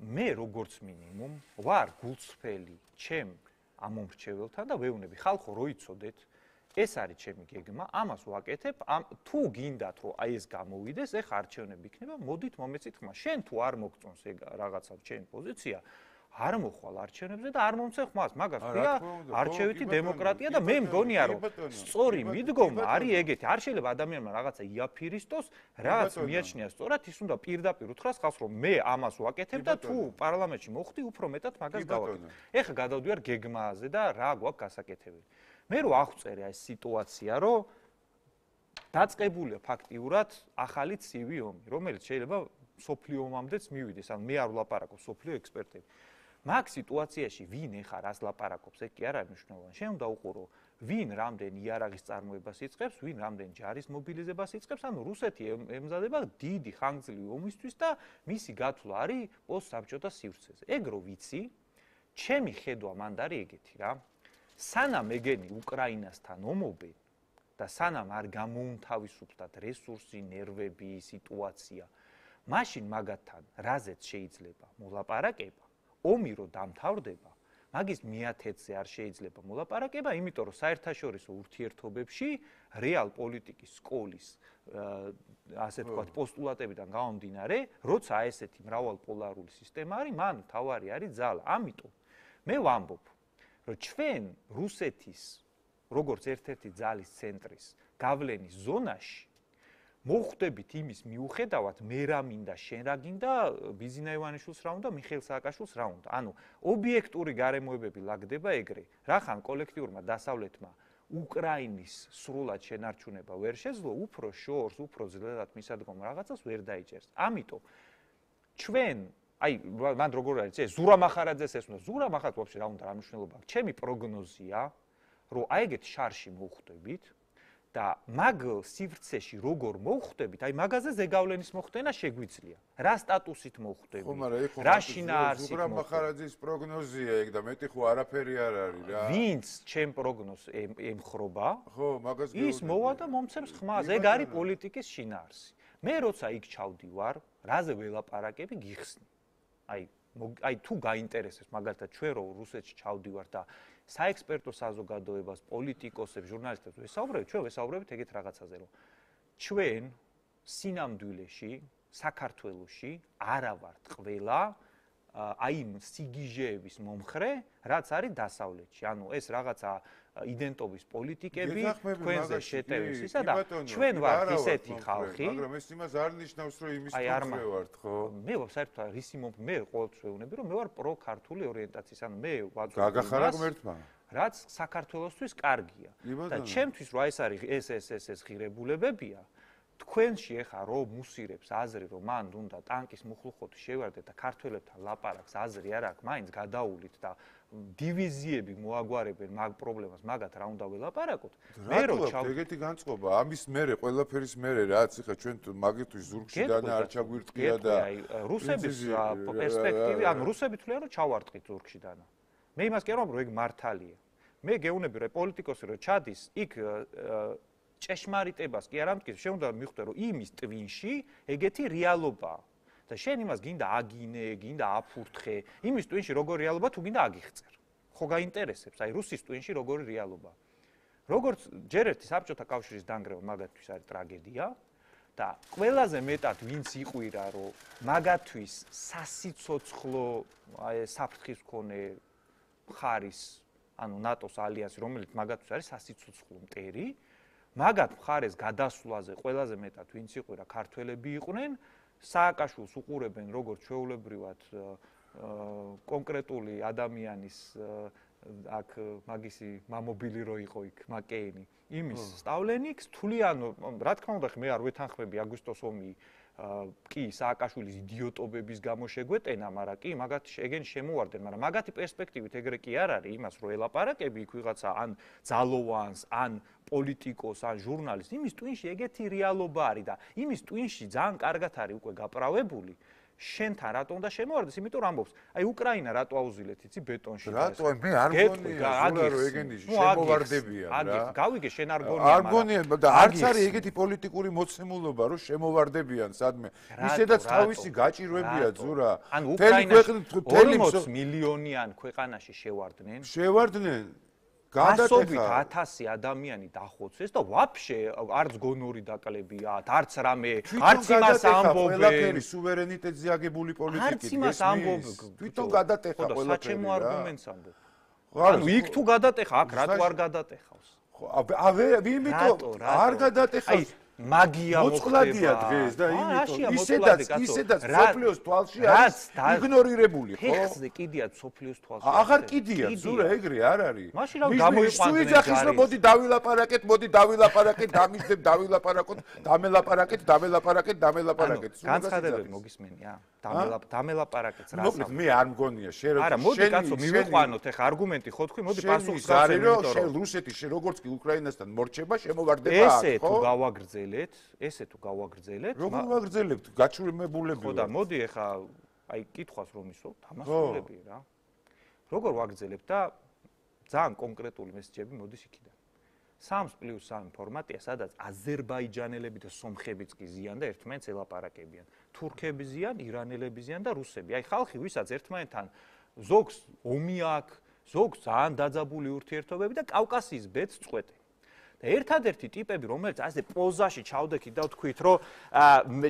მე როგორც მინიმუმ ვარ გულწრფელი ჩემ ამომრჩეველთან და ვეუბნები ხალხო რო იცოდეთ ეს არის ჩემი გეგმა, ამას ვაკეთებ, თუ გინდათ რომ აი ეს გამოვიდეს, ეხა არჩევნები იქნება, მოდით მომეცით ხმა. შენ თუ არ მოგწონს ეგ რაღაცა ჩემი პოზიცია, არ მოხვალ არჩევნებზე და არ მომცე ხმას. მაგას ქვია არჩევითი დემოკრატია და მე მგონია რომ სწორი მიდგომა არის ეგეთი. არ შეიძლება ადამიანმა რაღაცა იაფირისტოს, რაღაც მიაჩნია სწორად, ის უნდა პირდაპირ უთხრას ხალხს რომ მე ამას ვაკეთებ და თუ პარლამენტში მოხვდი, უფრო მეტად მაგას გავაკეთებ. ეხა გადავდივარ გეგმაზე და რა გვაქვს გასაკეთებელი. მე რო აღვწერე ეს სიტუაცია, რომ დაწყებულია ფაქტიურად ახალი ცივი ომი, რომელიც შეიძლება სოფლიო ომამდეც მივიდეს, ან მე არ ვლაპარაკობ სოფლიო ექსპერტები. მაგ სიტუაციაში ვინ ეხა რას ლაპარაკობს, ეგ კი არ არის მნიშვნელოვანი. შენ უნდა უყურო, ვინ რამდენ იარაღის წარმოებას იწყებს, ვინ რამდენ ჯარის მობილიზებას იწყებს, ანუ რუსეთი ემზადება დიდი ხანგრძლივი ომისთვის და მისი გათვლა არის პოსტსაბჭოთა სივრცეზე. ეგ რო ვიცი, ჩემი ხედვა მანდ არის ეგეთი რა. სანამ ეგენი უკრაინასთან ომობენ და სანამ არ გამოუნთავისუფლდათ რესურსი, ნერვები, სიტუაცია, მაშინ მაგათთან რაზეც შეიძლება მოლაპარაკება, ომი რო დამთავრდება, მაგის მეათედზე არ შეიძლება მოლაპარაკება, იმიტომ რომ საერთაშორისო ურთიერთობებში რეალ პოლიტიკის სკოლის ასე თქვათ პოსტულატებიდან გამომდინარე, როცა ესეთი მრავალპოლარული სისტემა არის, მან თავარი არის ძალა. ამიტომ მე ვამბობ რომ ჩვენ რუსეთის როგორც ერთ-ერთი ძალის ცენტრის გავლენის ზონაში მოხვდებით იმის მიუხედავად მე რა მინდა შენ რა გინდა ბიზინა ივანიშვილს რა უნდა მიხეილ სააკაშვილს რა უნდა ანუ ობიექტური გარემოებები ლაგდება ეგრე რახან კოლექტიურმა დასავლეთმა უკრაინის სრულად შენარჩუნება ვერ შეძლო უფრო შორს უფრო ძლიერად მისადგომ რაღაცას ვერ დაიჭერს ამიტომ ჩვენ აი მან როგორ არის ეს ზურა მახარაძეს ეს უნდა ზურა მახარაძე ვაფშე რა უნდა რა მნიშვნელობა აქვს ჩემი პროგნოზია რომ აი ეგეთ შარში მოვხვდებით და მაგ სივრცეში როგორ მოვხვდებით აი მაგაზე ზეგავლენის მოხდენა შეგვიძლია რა სტატუსით მოვხვდებით ხო მაგრამ ეხლა რა შინაარსით ზურა მახარაძის პროგნოზია ეგ და მეტი ხო არაფერი არ არის რა ვინც ჩემ პროგნოზს ემხრობა ხო მაგას ის მოვა და მომცემს ხმას ეგ არის პოლიტიკის შინაარსი მე როცა იქ ჩავდივარ რაზე ველაპარაკები გიხსნი აი აი თუ გაინტერესებს მაგალითად ჩვენ რო რუსეთში ჩავდივარ და საექსპერტო საზოგადოებას, პოლიტიკოსებს, ჟურნალისტებს ვესაუბრებ, ჩვენ ვესაუბრებით ეგეთ რაღაცაზე, რომ ჩვენ სინამდვილეში საქართველოში არა ვართ ყველა აი იმ სიგიჟეების მომხრე, რაც არის დასავლეთში. ანუ ეს რაღაცა იდენტობის პოლიტიკები თქვენზე შეტევის ისა და ჩვენ ვართ ისეთი ხალხი, მაგრამ ეს იმას არ ნიშნავს, რომ იმის მომხრე ვართ, ხო? მე საერთოდ რისი მომხრე, მე ყოველთვის ვეუბნები, რომ მე ვარ პრო-ქართული ორიენტაციის, ანუ მე ვაწვდ გაგახარა ღმერთმა. რაც საქართველოსთვის კარგია. და ჩემთვის რა ეს არის ეს ეს ეს ეს ღირებულებებია. თქვენში ეხა რო მუსირებს აზრი რომ მან უნდა ტანკის მუხლუხოთი შევარდეთ და ქართველებთან ლაპარაკს აზრი არ აქვს მაინც გადაულით და დივიზიები მოაგვარებენ მაგ პრობლემას მაგათ რა უნდა ველაპარაკოთ მე რო ჩავ ეგეთი განწყობა ამის მერე ყველაფერის მერე რაც ეხა ჩვენ მაგისთვის ზურგში და არ ჩაგვირტყია და რუსების პერსპექტივი ანუ რუსები თვლიან რომ ჩავარტყით ზურგში დანა მე იმას კი არ ვამბობ რომ ეგ მართალია მე გეუბნები რომ პოლიტიკოსი რო ჩადის იქ ჭეშმარიტებას კი არ ამტკიცებს, შენ უნდა მიხვდე რომ იმის ტვინში ეგეთი რეალობაა. და შენ იმას გინდა აგინე, გინდა აფურთხე, იმის ტვინში როგორი რეალობა თუ გინდა აგიხწერ. ხო გაინტერესებს, აი რუსის ტვინში როგორი რეალობა. როგორც ჯერ ერთი საბჭოთა კავშირის დანგრევა მაგათთვის არის ტრაგედია და ყველაზე მეტად ვინც იყვირა, რომ მაგათთვის სასიცოცხლო აი საფრთხის მქონე მხარის, ანუ ნატოს ალიანსი, რომელიც მაგათთვის არის სასიცოცხლო მტერი, მაგათ მხარეს გადასვლაზე ყველაზე მეტად ვინც იყვირა, ქართველები იყვნენ, სააკაშვილს უყურებენ როგორც ჩვეულებრივად კონკრეტული ადამიანის აქ მაგისი მამობილი რო იყო იქ მაკეინი იმის სტავლენიქს თვლიან რა თქმა უნდა მე არ ვეთანხმები აგვისტოს ომი კი სააკაშვილის იდიოტობების გამო შეგვეტენა მაგრამ კი მაგათ ეგენ შემოვარდნენ მაგრამ მაგათი პერსპექტივით ეგრე კი არ არის იმას რო ელაპარაკები იქ ვიღაცა ან ძალოვანს ან პოლიტიკოს ან ჟურნალისტს იმის ტვინში ეგეთი რეალობა არის და იმის ტვინში ძალიან კარგად არის უკვე გაправებული შენთან რატომ და შემოვარდეს, იმიტომ რომ ამბობს, აი უკრაინა რატო აუზილეთ, იცი ბეტონში. რატო მე არ გონია, ზურა რომ ეგენი შემოვარდებიან რა. აგიხ, გავიგე შენ არ გონია, მაგრამ არ გონია და არც არის ეგეთი პოლიტიკური მოცემულობა, რომ შემოვარდებიან სადმე. ისედაც თავისი გაჭირვებია ზურა. ანუ უკრაინაში ორმოც მილიონიან ქვეყანაში შევარდნენ. შევარდნენ. გასობით ათასი ადამიანი დახოცეს და ვაფშე არც გონორი დაკლებიათ, არც რამე, არც იმას ამბობენ. ყველაფერი სუვერენიტეტზე აგებული პოლიტიკით. არც იმას ამბობენ. თვითონ გადატეხა ყველაფერი. და საჩემო არგუმენტს ამბობ. ანუ იქ თუ გადატეხა, აქ რატო არ გადატეხავს? ავე იმიტომ არ გადატეხავს. მაგია მოწყლადია დღეს და იმიტომ ისედაც ისედაც სოფლიოს თვალში არის იგნორირებული ხო? ხეხზე კიდიათ სოფლიოს თვალში. აღარ კიდიათ, ზურა ეგრე არ არის. მაშინ რა გამოიყვანდნენ სუიძახის რომ მოდი დავილაპარაკეთ, მოდი დავილაპარაკეთ, დამისდებ დავილაპარაკოთ, დამელაპარაკეთ, დამელაპარაკეთ, დამელაპარაკეთ. განცხადებები მოგისმენია? დამელაპ დამელაპარაკეთს რა. მოკლედ მე არ მგონია შენ არა, მოდი კაცო მივიყვანოთ ახლა არგუმენტი ხო თქვი, მოდი პასუხს გავცემ, იმიტომ რომ შენ რუსეთი შენ როგორც კი უკრაინასთან მორჩება, შემოვარდება აქ, ხო? ესე თუ გავაგრძელეთ, ესე თუ გავაგრძელეთ, როგორ ვაგრძელებთ? გაჩვენებულები. ხო და მოდი ახლა აი კითხვას რომ ისო, დამასრულები რა. როგორ ვაგრძელებთ და ძალიან კონკრეტული მესიჯები მოდის იქიდან. სამს პლუს სამი ფორმატია, სადაც აზერბაიჯანელები და სომხებიც კი ზიან და ერთმანეთს ელაპარაკებიან. თურქები ზიან, ირანელები ზიან და რუსები. აი ხალხი, ვისაც ერთმანეთთან ზოგს ომი აქვს, ზოგს ძალიან დაძაბული ურთიერთობები და კავკასიის ბედს წყვეტენ. და ერთადერთი ტიპები, რომელიც ასე პოზაში ჩავდექით და ვთქვით, რომ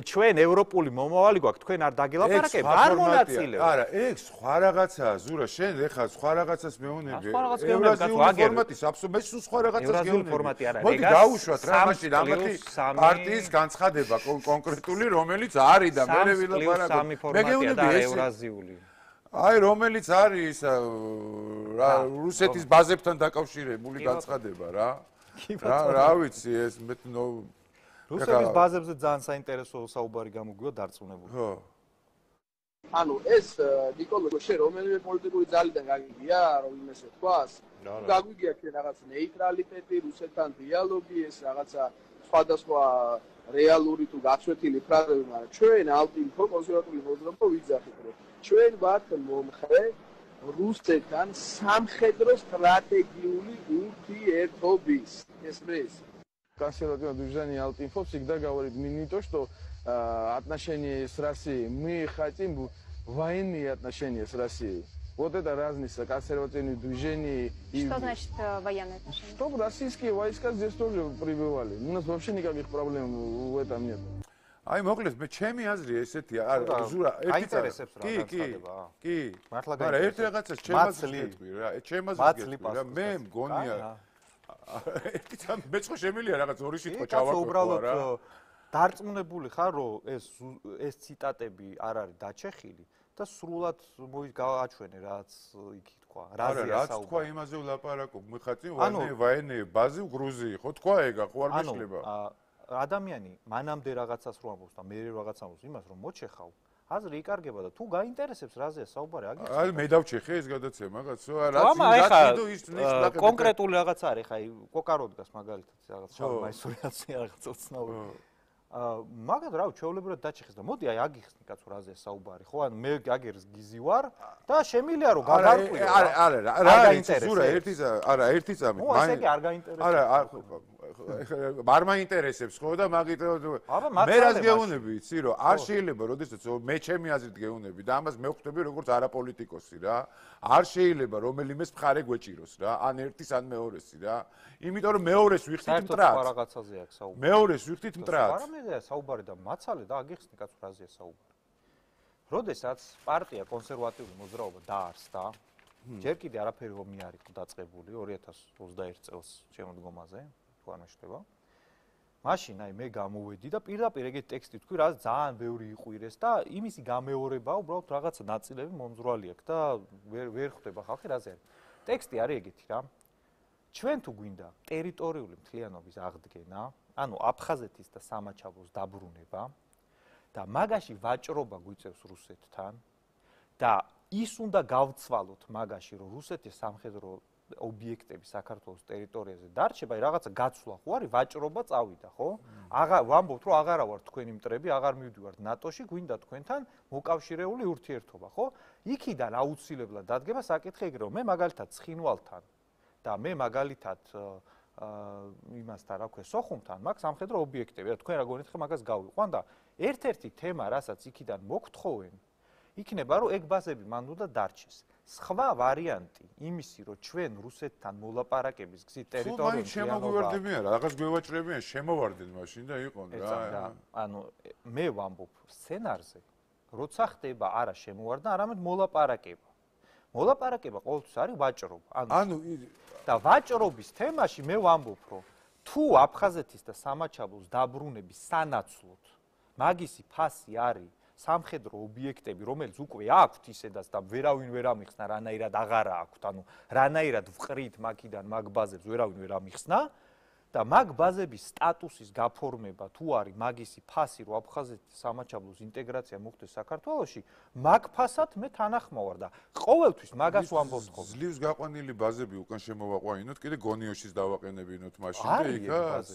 ჩვენ ევროპული მომავალი გვაქვს, თქვენ არ დაგელაპარაკებთ, არ მონაწილეობთ. არა, ეგ სხვა რაღაცაა, ზურა, შენ ეხლა სხვა რაღაცას მეუნები. ევრაზიული ფორმატის აბსოლუტურად მე სულ სხვა რაღაცას გეუნები. ევრაზიული ფორმატი არა, მოდი გავუშვათ რა მაშინ ამათი პარტიის განცხადება კონკრეტული, რომელიც არის და მე ვილაპარაკობ. მე გეუნები ევრაზიული. აი რომელიც არის რა რუსეთის ბაზებთან დაკავშირებული განცხადება რა. რა რა ვიცი ეს მე რუსების ბაზებზე ძალიან საინტერესო საუბარი გამოგვივა დარწმუნებული. ხო. ანუ ეს ნიკოლო შენ რომელიმე პოლიტიკური ძალიდან გაგიგია რომ იმესე თქვას? გაგვიგია ჩვენ რაღაც ნეიტრალიტეტი, რუსეთთან დიალოგი, ეს რაღაცა სხვადასხვა რეალური თუ გაცვეთილი ფრაზები, მაგრამ ჩვენ ალტინფო კონსერვატიული მოძრაობა ვიძახით რომ ჩვენ ვართ მომხრე რუსეთთან სამხედრო სტრატეგიული ურთიერთობის. Espress. Консервативное движение Алтинфо всегда говорит, мы не то, что э, отношения с Россией, мы хотим военные отношения с Россией. Вот это разница консервативных движений. Что и... значит э, военные отношения? Чтобы российские войска здесь тоже прибывали. У нас вообще никаких проблем в этом нет. აი მოკლედ მე ჩემი აზრი ესეთია არა ზურა ერთი კი კი კი მაგრამ ერთ რაღაცას ჩემს გეტყვი რა ჩემს გეტყვი რა მე მგონია ერთი წამ მე ხო შემილია რაღაც ორი სიტყვა ჩავაკეთო რა დარწმუნებული ხარ რომ ეს ეს ციტატები არ არის დაჩეხილი და სრულად მოიჩვენე რაც იქ თქვა რაზეა საუბარი რა თქვა იმაზე ვლაპარაკობ მე ხათი ვაინე ვაინე ბაზი გრუზი ხო თქვა ეგა ხო არ მეშლება ადამიანი მანამდე რაღაცას რო ამბობს და მე რაღაცას ამბობს იმას რომ მოჩეხავ აზრი იკარგება და თუ გაინტერესებს რაზეა საუბარი აგიცნო აი მე დავჩეხე ეს გადაცემა კაცო რაც რაც ის ნიშნავს კონკრეტული რაღაც არის ხა კოკაროდგას მაგალითად რაღაც შავმაისურიაცია რაღაც უცნაური მაგათ რა ჩვეულებრივად დაჩეხეს და მოდი აი აგიხსნი კაცო რაზეა საუბარი ხო ანუ მე აგერს გიზი ვარ და შემილია რომ გადარკვიო არა არა რა არა ზურა ერთი არა ერთი წამით მაინც ესე კი არ გაინტერესებს არა არ მაინტერესებს ხო და მაგით მე რას გეუნები იცი რომ არ შეიძლება როდესაც მე ჩემი აზრით გეუნები და ამას მე ვხვდები როგორც არაპოლიტიკოსი რა არ შეიძლება რომელიმეს მხარე გვეჭიროს რა ან ერთის ან მეორესი რა იმიტომ რომ მეორეს ვიხდით მტრად საერთოდ რაღაცაზე აქვს საუბარი მეორეს ვიხდით მტრად არამედია საუბარი და მაცალე და აგიხსნი კაც ფრაზეა საუბარი როდესაც პარტია კონსერვატიული მოძრაობა დაარსდა ჯერ კიდე არაფერი ომი არ იყო დაწყებული ორი ათას ოცდაერთი წელს შემოდგომაზე თუ არ მეშտება მაშინ აი მე გამოვედი და პირდაპირ ეგეთ ტექსტი თქვი რა ძალიან ბევრი იყვირეს და იმისი გამეორება უბრალოდ რაღაცა ნაწილები მომძრვალი აქვს და ვერ ვერ ხვდება ხალხი რა ზე არის ტექსტი არის ეგეთი რა ჩვენ თუ გვინდა ტერიტორიული მთლიანობის აღდგენა ანუ აფხაზეთის და სამაჩაბლოს დაბრუნება და მაგაში ვაჭრობა გვიწევს რუსეთთან და ის უნდა გავცვალოთ მაგაში რომ რუსეთის სამხედრო ობიექტები საქართველოს ტერიტორიაზე დარჩება, რაღაცა გაცვლა ხო არის, ვაჭრობა წავიდა, ხო? აღარ ვამბობთ, რომ აღარა ვარ თქვენი მტრები, აღარ მივდივართ ნატოში, გვინდა თქვენთან მოკავშირეული ურთიერთობა, ხო? იქიდან აუცილებლად დადგება საკითხი ეგრე, რომ მე მაგალითად ცხინვალთან და მე მაგალითად იმასთან, რა ქვია, სოხუმთან მაქვს სამხედრო ობიექტები, რა თქვენ რა გონით ხე მაგას გავიყვან და ერთ-ერთი თემა, რასაც იქიდან მოგთხოვენ, იქნება რომ ეგ ბაზები მან უნდა დარჩეს. სხვა ვარიანტი იმისი რომ ჩვენ რუსეთთან მოლაპარაკების გზით ტერიტორიულ შემოგვივარდები არა, რაღაც გვევაჭრებიან, შემოვარდნენ მაშინ და იყონ რა. ანუ მე ვამბობ სცენარზე, როცა ხდება არა შემოვარდა, არამედ მოლაპარაკება. მოლაპარაკება ყოველთვის არის ვაჭრობა. ანუ და ვაჭრობის თემაში მე ვამბობ რომ თუ აფხაზეთის და სამაჩაბლოს დაბრუნების სანაცვლოდ მაგისი ფასი არის სამხედრო ობიექტები, რომელიც უკვე აქვთ ისედაც და ვერავინ ვერ ამიხსნა, რანაირად აღარა აქვთ, ანუ რანაირად ვყრით მაგიდან მაგ ბაზებს ვერავინ ვერ ამიხსნა და მაგ ბაზების სტატუსის გაფორმება თუ არის მაგისი ფასი, რომ აფხაზეთის სამაჩაბლოს ინტეგრაცია მოხდეს საქართველოში, მაგ ფასად მე თანახმოვარ და ყოველთვის მაგას ვამბობ ხოლმე. ძლივს გაყვანილი ბაზები უკან შემოვაყვანინოთ, კიდე გონიოშის დავაყენებინოთ მაშინ და იქაც.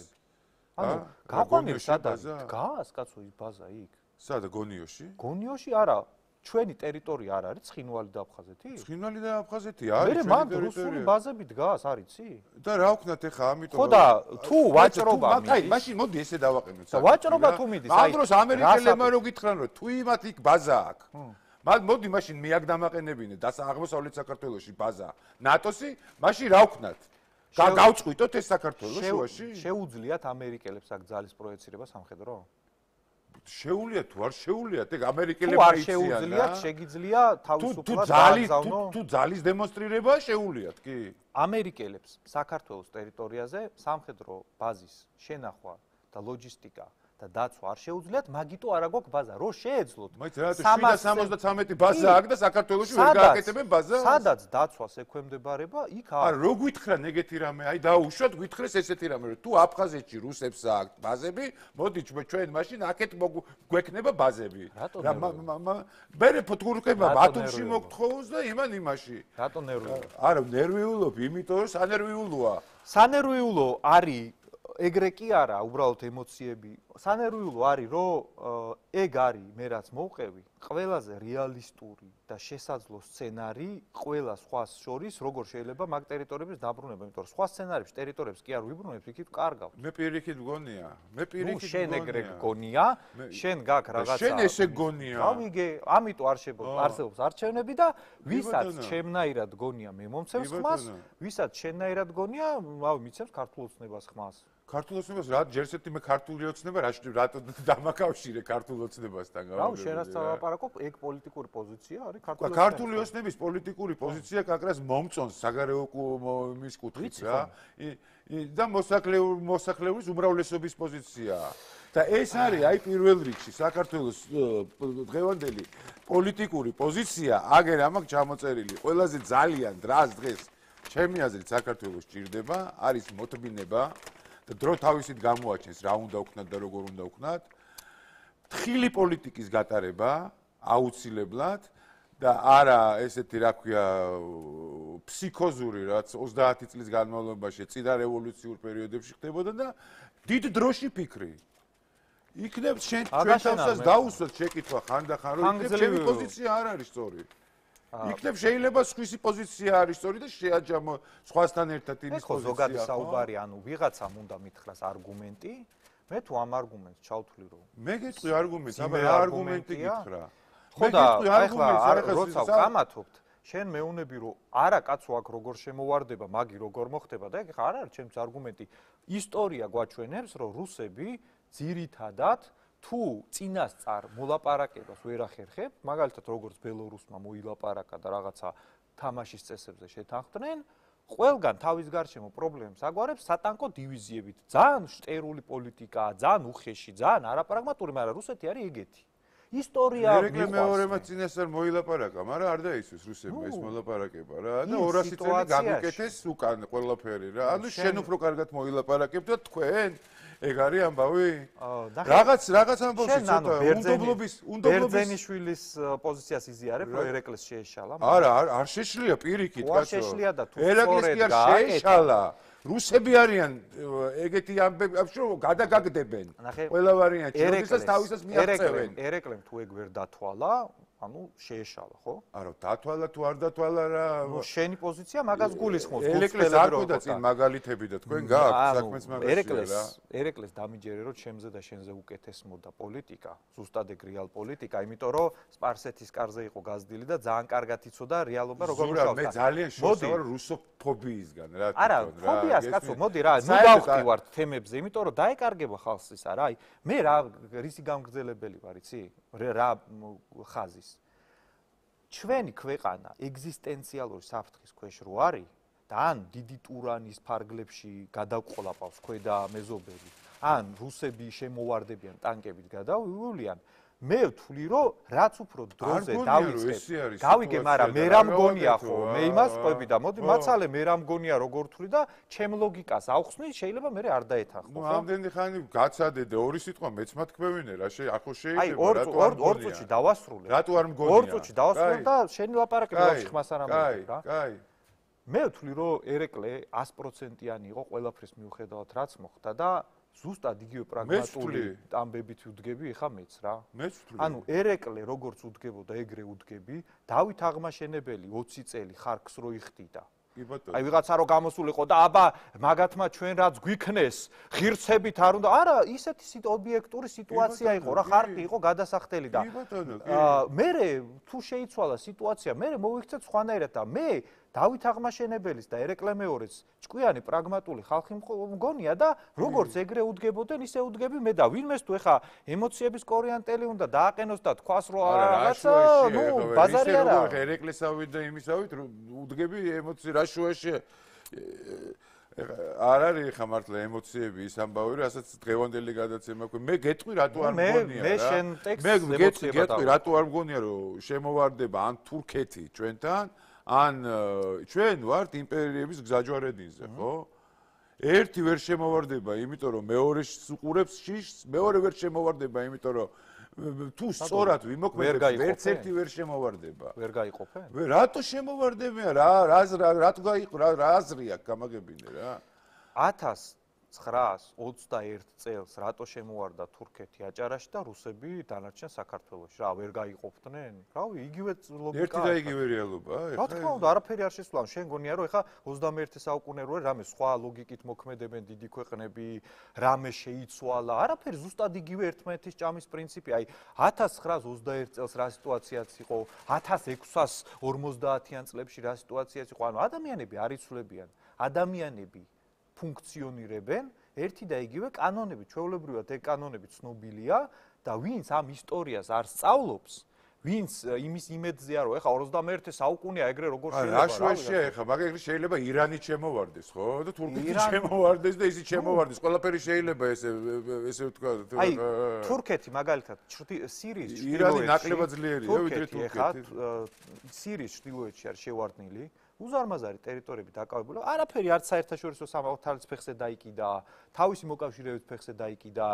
ანუ გაყვანილი სადაც დგას, კაცო, ის ბაზა იქ. სადა გონიოში? გონიოში არა, ჩვენი ტერიტორია არ არის ცხინვალი და აფხაზეთი? ცხინვალი და აფხაზეთი არის ჩვენი ტერიტორია. მე მანდ რუსული ბაზები დგას, არიცი? და რა ვქნათ ეხა, ამიტომ ხო და თუ ვაჭრობა მიდის. აი, მაშინ მოდი ესე დავაყენოთ. და ვაჭრობა თუ მიდის, აი. ამ დროს ამერიკელებმა რო გითხრან რომ თუ იმათ იქ ბაზა აქვს. მაგ მოდი მაშინ მე აქ დამაყენებინე და აღმოსავლეთ საქართველოში ბაზა ნატოსი, მაშინ რა ვქნათ? გავწყვიტოთ ეს საქართველოს შუაში? შეუძლიათ ამერიკელებს აქ ძალის პროექცირება სამხედრო? შეუძლია თუ არ შეუძლია, ეგ ამერიკელებმა იციან. თუ არ შეუძლიათ, შეგიძლია თავისუფლად გააგზავნო. თუ ძალის დემონსტრირება შეუძლიათ, კი. ამერიკელებს საქართველოს ტერიტორიაზე სამხედრო ბაზის შენახვა და ლოჯისტიკა და დაცვა არ შეუძლიათ, მაგიტო არა გვაქვს ბაზა. რო შეეძლოთ. მაინც რა შვიდ სამოცდათამეტი ბაზა აქვს და საქართველოში ვერ გააკეთებენ ბაზას? სადაც დაცვას ექვემდებარება, იქ არის. არა, რო გითხრან ეგეთი რამე, აი დაუშვათ, გითხრეს ესეთი რამე, რომ თუ აფხაზეთში რუსებს აქვს ბაზები, მოდი ჩვენ მაშინ აქეთ გვექნება ბაზები. რა მე ფოტოგრაფება ბათუმში მოგთხოვოს და იმან იმაში. რატო ნერვიულობ? არა, ნერვიულობ, იმიტომ რომ სანერვიულოა. სანერვიულო არის ეგრე კი არა, უბრალოდ ემოციები. სანერვიულო არის, რომ ეგ არის მე რაც მოვყევი, ყველაზე რეალისტური და შესაძლო სცენარი ყველა სხვას შორის, როგორ შეიძლება მაგ ტერიტორიების დაბრუნება, იმიტომ რომ სხვა სცენარებში ტერიტორიებს კი არ ვიბრუნებთ, იქით კარგავთ. მე პირიქით გონია, მე პირიქით გონია. შენ ეგრე გონია, შენ გაქვს რაღაცა. შენ ესე გონია. გავიგე, ამიტომ არ არსებობს არჩევნები და ვისაც ჩემნაირად გონია, მე მომცემს ხმას, ვისაც შენნაირად გონია, რავი, მიცემს ქართულ ოცნებას ხმას. ქართულ ოცნებას რა ჯერსეთი მე ქართული ოცნება რა რატო დამაკავშირე ქართულ ოცნებასთან გავიგე. რავი, შენ რაც ლაპარაკობ, ეგ პოლიტიკური პოზიცია არის ქართული ოცნების. ქართული ოცნების პოლიტიკური პოზიცია კაკრას მომწონს საგარეო მის კუთხით რა. და მოსახლეობის მოსახლეობის უმრავლესობის პოზიციაა. და ეს არის აი პირველ რიგში საქართველოს დღევანდელი პოლიტიკური პოზიცია, აგერ ამაკ ჩამოწერილი. ყველაზე ძალიან დრას დღეს ჩემი აზრით საქართველოს ჭირდება, არის მოთმინება და დრო თავისით გამოაჩენს რა უნდა ვქნათ და როგორ უნდა ვქნათ. თხილი პოლიტიკის გატარება აუცილებლად და არა ესეთი რა ქვია ფსიქოზური რაც ოცდაათი წლის განმავლობაში წინა რევოლუციურ პერიოდებში ხდებოდა და დიდ დროში ფიქრი. იქნებ შენ ჩვენ თავსას დაუსვათ შეკითხვა ხანდახან რომ იქნებ ჩემი პოზიცია არ არის სწორი. იქნებ შეიძლება სხვისი პოზიცია არის სწორი და შეაჯამო სხვასთან ერთად იმის პოზიცია. ხო, ზოგადი საუბარი, ანუ ვიღაცამ უნდა მითხრას არგუმენტი, მე თუ ამ არგუმენტს ჩავთვლი რომ მე გეტყვი არგუმენტს, აბა რა არგუმენტი გითხრა? ხო და ახლა როცა ვკამათობთ, შენ მეუნები რომ არა კაცო აქ როგორ შემოვარდება, მაგი როგორ მოხდება და ეხლა არ არის ჩემს არგუმენტი. ისტორია გვაჩვენებს, რომ რუსები ძირითადად თუ წინასწარ მოლაპარაკებას ვერ ახერხებ, მაგალითად როგორც ბელორუსმა მოილაპარაკა და რაღაცა თამაშის წესებზე შეთანხმდნენ, ყველგან თავის გარშემო პრობლემებს აგვარებს სატანკო დივიზიებით. ძალიან შტერული პოლიტიკაა, ძალიან უხეში, ძალიან არაპრაგმატული, მაგრამ რუსეთი არის ეგეთი. ისტორია მიყვარს. მეორემაც წინასწარ მოილაპარაკა, მაგრამ არ დაისვეს რუსებმა ეს მოლაპარაკება რა და ორასი წელი გამიკეთეს უკან ყველაფერი რა. ანუ შენ უფრო კარგად მოილაპარაკებ და თქვენ ეგ არის ამბავი? რაღაც რაღაც ამბავში ცოტა უნდობლობის უნდობლობის ბერძენიშვილის პოზიციას იზიარებ, რომ ერეკლეს შეეშალა. არა, არ შეშლია პირიქით, კაცო. შეშლია და თუ ერეკლეს შეეშალა. რუსები არიან ეგეთი ამბები, რომ გადაგაგდებენ. ყველა ვარიანტი, როდესაც თავისას მიაღწევენ. ერეკლემ თუ ეგ ვერ დათვალა, ანუ შეეშალა, ხო? არა, დათვალა თუ არ დათვალა რა. ნუ შენი პოზიცია მაგას გულისხმობს. ერეკლეს არ ყოდა წინ მაგალითები და თქვენ გააქვთ საქმეც მაგაშია რა. ერეკლეს, ერეკლეს დამიჯერე რომ ჩემზე და შენზე უკეთესმოდა პოლიტიკა, ზუსტად ეგ რეალ პოლიტიკა, იმიტომ რომ სპარსეთის კარზე იყო გაზრდილი და ძალიან კარგად იცოდა რეალობა როგორ მუშაობს. მე ძალიან შევსავარ რუსოფობიისგან რა თქმა უნდა. არა, ფობიას კაცო, მოდი რა, ნუ დავხტივართ თემებზე, იმიტომ რომ დაეკარგება ხალხს ის არა, აი, მე რა რისი გამგრძელებელი ვარ, იცი? რა ხაზის ჩვენი ქვეყანა ეგზისტენციალური საფრთხის ქვეშ რო არის და ან დიდი ტურანის ფარგლებში გადაყოლაპავს ქვედა მეზობელი, ან რუსები შემოვარდებიან ტანკებით გადავივლიან, მე ვთვლი რომ რაც უფრო დროზე დავიწყებ. გავიგე, მაგრამ მე რა მგონია ხო, მე იმას ყვები და მოდი მაცალე მე რა მგონია როგორ ვთვლი და ჩემ ლოგიკას ავხსნი, შეიძლება მე არ დაეთანხმო. ნუ ამდენი ხანი გაცადე და ორი სიტყვა მეც მათქვევინე რა შე ახო შეიძლება რატო არ ორ წუთში დავასრულე. რატო არ მგონია? ორ წუთში დავასრულე და შენი ლაპარაკები ვაფშე ხმას არ ამბობ რა. კაი. მე ვთვლი რომ ერეკლე sto პროცენტიანი იყო ყველაფრის მიუხედავად რაც მოხდა და ზუსტად იგივე პრაგმატული ამბებით ვუდგები ხა მეც რა. მეც ვთვლი. ანუ ერეკლე როგორც უდგებოდა ეგრე უდგები, დავით აღმაშენებელი ოცი წელი ხარკს რო იხდიდა. აი ვიღაცა რო გამოსულიყო და აბა მაგათმა ჩვენ რაც გვიქნეს, ღირსებით არ უნდა. არა, ისეთი ობიექტური სიტუაცია იყო რა, ხარკი იყო გადასახდელი და მე თუ შეიცვალა სიტუაცია, მე მოვიქცეთ სხვანაირად და მე დავით აღმაშენებელის და ერეკლე მეორეს ჭკვიანი პრაგმატული ხალხი მგონია და როგორც ეგრე უდგებოდნენ, ისე უდგები მე და ვინმეს თუ ეხა ემოციების კორიანტელი უნდა დააყენოს და თქვას რომ რაღაცა, ნუ ბაზარი არა. ერეკლესავით და იმისავით უდგები ემოცი რა შუაში არ არის ხა მართლა ემოციები ის ამბავი, რასაც დღევანდელი გადაცემა აქვს. მე გეტყვი რატო არ მგონია რა. მე შენ ტექსტს მე გეტყვი რატო არ მგონია რომ შემოვარდება ან თურქეთი ჩვენთან ან ჩვენ ვართ იმპერიების გზაჯვარედინზე, ხო? ერთი ვერ შემოვარდება, იმიტომ რომ მეორეს უყურებს შიშს, მეორე ვერ შემოვარდება, იმიტომ რომ თუ სწორად ვიმოქმედებს, ვერც ერთი ვერ შემოვარდება. ვერ გაიყოფენ? რატო შემოვარდებიან? რა რა რატო გაიყო რა აზრი აქვს გამაგებინე რა? ათას ცხრაას ოცდაერთ წელს რატო შემოვარდა თურქეთი აჭარაში და რუსები დანარჩენ საქართველოში? რა ვერ გაიყოფდნენ? რავი, იგივე ლოგიკა. ერთი და იგივე რეალობა, რა თქმა უნდა, არაფერი არ შესვლა. შენ გონია რომ ეხა ოცდამეერთე საუკუნე როა რამე სხვა ლოგიკით მოქმედებენ დიდი ქვეყნები, რამე შეიცვალა. არაფერი, ზუსტად იგივე ერთმანეთის ჭამის პრინციპი. აი ათას ცხრაას ოცდაერთ წელს რა სიტუაციაც იყო, ათას ექვსას ორმოცდაათიან წლებში რა სიტუაციაც იყო. ანუ ადამიანები არ იცვლებიან. ადამიანები ფუნქციონირებენ ერთი და იგივე კანონები, ჩვეულებრივად ეგ კანონები ცნობილია და ვინც ამ ისტორიას არ სწავლობს, ვინც იმის იმედზეა რომ ეხა ოცდამეერთე საუკუნეა ეგრე როგორ შეიძლება რა შუაშია ეხა მაგალითად შეიძლება ირანი შემოვარდეს ხო და თურქეთი შემოვარდეს და ისიც შემოვარდეს ყველაფერი შეიძლება ესე ესე ვთქვა აი თურქეთი მაგალითად სირიის ირანი ნაკლებად ძლიერია ვიდრე თურქეთი სირიის ჩრდილოეთში არის შევარდნილი უზარმაზარი ტერიტორიები დაკავებული. არაფერი არც საერთაშორისო სამართლის ფეხზე დაიკიდა, თავისი მოკავშირეების ფეხზე დაიკიდა.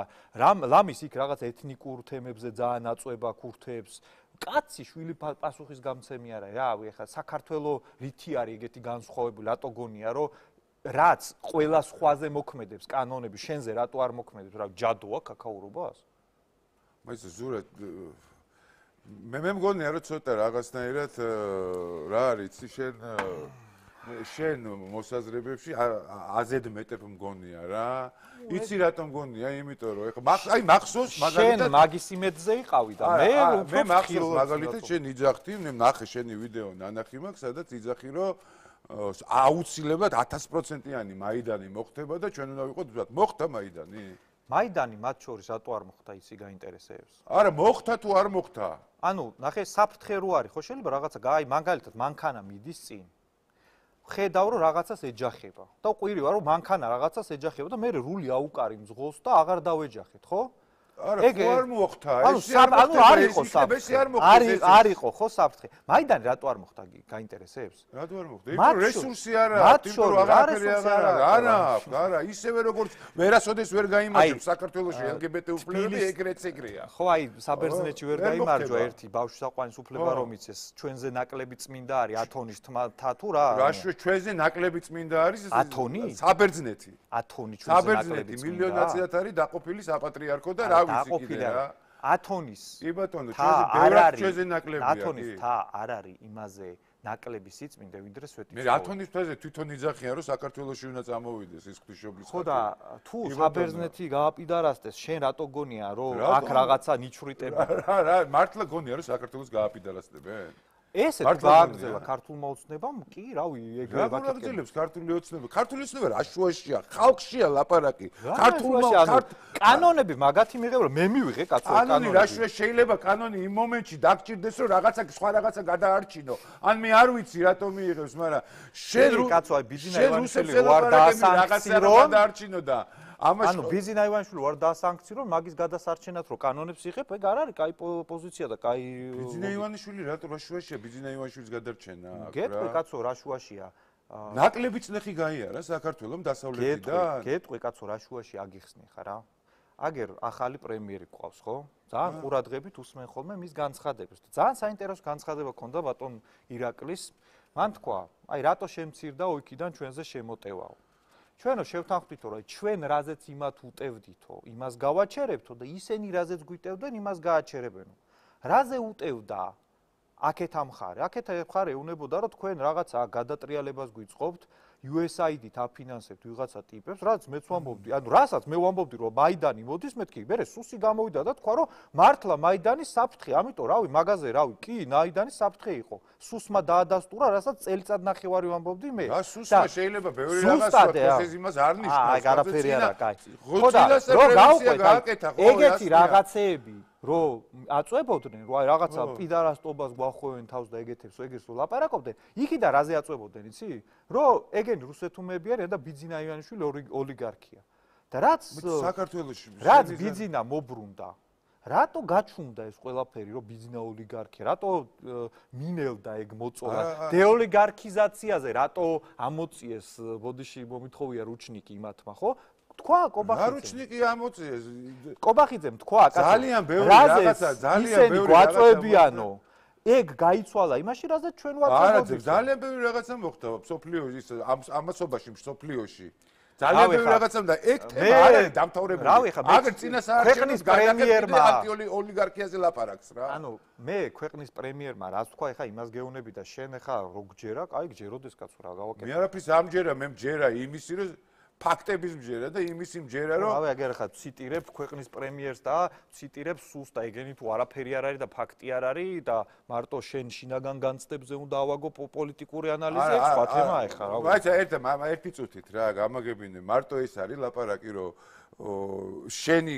ლამის იქ რაღაც ეთნიკურ თემებზე ძალიან აწვება ქურთებს. კაცი შვილი პასუხისგამცემი არა. რავი, ახლა საქართველოს რითი არის ეგეთი განსხვავებული, რატო გონია, რომ რაც ყველა სხვაზე მოქმედებს კანონები, შენზე რატო არ მოქმედებს? რა ჯადოა კაკაურობას? მაინც ზურა მე მე მგონია რომ ცოტა რაღაცნაირად რა არის იცი შენ შენ მოსაზრებებში აზედმეტებ მგონია რა იცი რატომ მგონია იმიტომ რომ ეხლა აი მახსოვს მაგალითად შენ მაგის იმედზე იყავი და მე მე მახსოვს მაგალითად შენ იძახდი მე ნახე შენი ვიდეო ნანახი მაქვს სადაც იძახი რომ აუცილებლად ათას პროცენტიანი მაიდანი მოხდება და ჩვენ უნდა ვიყოთ ვთქვათ მოხდა მაიდანი მაიდანი მათ შორის რატო არ მოხდა იცი გაინტერესებს არა მოხდა თუ არ მოხდა ანუ ნახე საფრთხე რო არის ხო შეიძლება რაღაცა აი მაგალითად მანქანა მიდის წინ ხედავ რომ რაღაცას ეჯახება და ყვირივა რომ მანქანა რაღაცას ეჯახება და მე რული აუკარი მძღოლს და აღარ დავეჯახეთ ხო არა ხო არ მოხდა ეს ანუ არ იყო საფრთხე არის არ იყო ხო საფრთხე მაიდანი რატო არ მოხდა გაინტერესებს რატო არ მოხდა იმიტომ რესურსი არა იმიტომ რომ აღარაფერი აღარ არა არა ისევე როგორც ვერასოდეს ვერ გაიმარჯვებს საქართველოში ელგბტ უფლებები ეგრეც ეგრეა ხო აი საბერძნეთში ვერ გაიმარჯვა ერთი ბავშვი საყვანის უფლება რომ იცეს ჩვენზე ნაკლები წმინდა არის ათონის თათუ რა რაშუე ჩვენზე ნაკლები წმინდა არის ათონი საბერძნეთი ათონი ჩვენზე ნაკლები საბერძნეთი მილიონაციად არის დაყოფილი საპატრიარქო და რა დაყოფილი რა ათონის კი ბატონო ჩვენზე ბევრად ჩვენზე ნაკლებია ათონის თა არ არის იმაზე ნაკლები სიწმინდე ვიდრე სვეტიცხოველი მე ათონის თვეზე თვითონ იძახიან რომ საქართველოში უნდა წამოვიდეს ის ღვთისმშობლის ხო და თუ საბერძნეთი გააპიდარასდეს შენ რატო გონია რომ აქ რაღაცა ნიჩვრიტები რა რა მართლა გონია რომ საქართველოს გააპიდარასდებენ ესეც გააგრძელა ქართულმა ოცნებამ კი რავი ეგრე ვაკეთებს ქართული ოცნება ქართული ოცნება რაშუაშია ხალხშია ლაპარაკი ქართულმა კანონები მაგათი მიღება მე მივიღე კაცო კანონი რაშუა შეიძლება კანონი იმ მომენტში დაგჭირდეს რომ რაღაცა სხვა რაღაცა გადაარჩინო ან მე არ ვიცი რატომ მიიღებს მაგრამ შენ კაცო აი ბიძინა ივანიშვილი ვარ დაასანქციონო გადაარჩინო და ანუ ბიძინა ივანიშვილი ვარ დაასანქციონო მაგის გადასარჩენად რო კანონებს იღებ ეგ არ არის კაი პოზიცია და კაი ბიძინა ივანიშვილი რატო რაშუაშია ბიძინა ივანიშვილის გადარჩენა გეტყვი კაცო რაშუაშია ნაკლები წნეხი გაიარა საქართველოს დასავლეთიდან გეტყვი კაცო რაშუაში აგიხსნი ხარ რა აგერ ახალი პრემიერი ყავს ხო ძალიან ყურადღებით უსმენ ხოლმე მის განცხადებას და ძალიან საინტერესო განცხადება ქონდა ბატონ ირაკლის მან თქვა აი რატო შემცირდა ოიქიდან ჩვენზე შემოტევაო ჩვენო შევთანხმდითო რომ ჩვენ რაზეც იმათ უტევდითო იმას გავაჩერებთო და ისინი რაზეც გვიტევდნენ იმას გააჩერებენო რაზე უტევდა აქეთ ამხარე აქეთ ამხარე ეუნებოდა რომ თქვენ რაღაცა გადატრიალებას გვიწყობთ იუ ეს აი დი-თ აფინანსებთ ვიღაცა ტიპებს რაც მეც ვამბობდი ანუ რასაც მე ვამბობდი რომ მაიდანი მოდის მეთქი მე სუსი გამოვიდა და თქვა რომ მართლა მაიდანის საფრთხე ამიტომ რავი მაგაზე რავი კი მაიდანის საფრთხე იყო სუსმა დაადასტურა რასაც წელიწად ნახევარი ვამბობდი მე რა სუსმა შეიძლება ბევრი რაღაცა პროცესი იმას არ ნიშნავს აი გარაფერი არა კაი ხო და რო გავყვეთ ეგეთი რაღაცეები რო აწვებოდნენ რო აი რაღაცა პიდარასტობას გვახვევენ თავს და ეგეთებს ეგეთს რო ლაპარაკობდნენ იქიდან რაზე აწვებოდნენ იცი რო ეგენი რუსეთუმები არიან და ბიძინა ივანიშვილი ოლიგარქია და რაც საქართველოში რაც ბიძინა მობრუნდა რატო გაჩუნდა ეს ყველაფერი რომ ბიძინა ოლიგარქია რატო მინელდა ეგ მოწოლა დეოლიგარქიზაციაზე რატო ამოწიეს ბოდიში მომითხოვია რუჩნიკი იმათმა ხო თქვა კობახიძემ. ნარუჩნიკი ამოწიეს. კობახიძემ თქვა, კაცო. ძალიან ბევრი რაღაცა, ძალიან ბევრი რაღაცა. გვაწვევიანო. ეგ გაიცვალა იმაში, რაზეც ჩვენ ვაწვევთ. არა, ძალიან ბევრი რაღაცა მოხდა სოფლიოში, ის ამასობაში, სოფლიოში. ძალიან ბევრი რაღაცა და ეგ თემა არ არის დამთავრებული. რავი ხა, აგერ წინასაარჩევნოს პრემიერმა ოლიგარქიაზე ლაპარაკს რა. ანუ მე ქვეყნის პრემიერმა რაც თქვა, ეხა იმას გეუნები და შენ ეხა რო გჯერა, კაი გჯეროდეს კაცო რა გავაკეთე. მე არაფრის ამჯერა, მე მჯერა იმისი რომ ფაქტების მჯერა და იმისი მჯერა რომ რავი აგერ ხა ციტირებ ქვეყნის პრემიერს და ციტირებ სუს და ეგენი თუ არაფერი არ არის და ფაქტი არ არის და მარტო შენ შინაგან განცდებზე უნდა ავაგო პოლიტიკური ანალიზი ეს სხვა თემა ეხა რავი მაიცა ერთ ერთი წუთით რა გამაგებინე მარტო ეს არის ლაპარაკი რომ შენი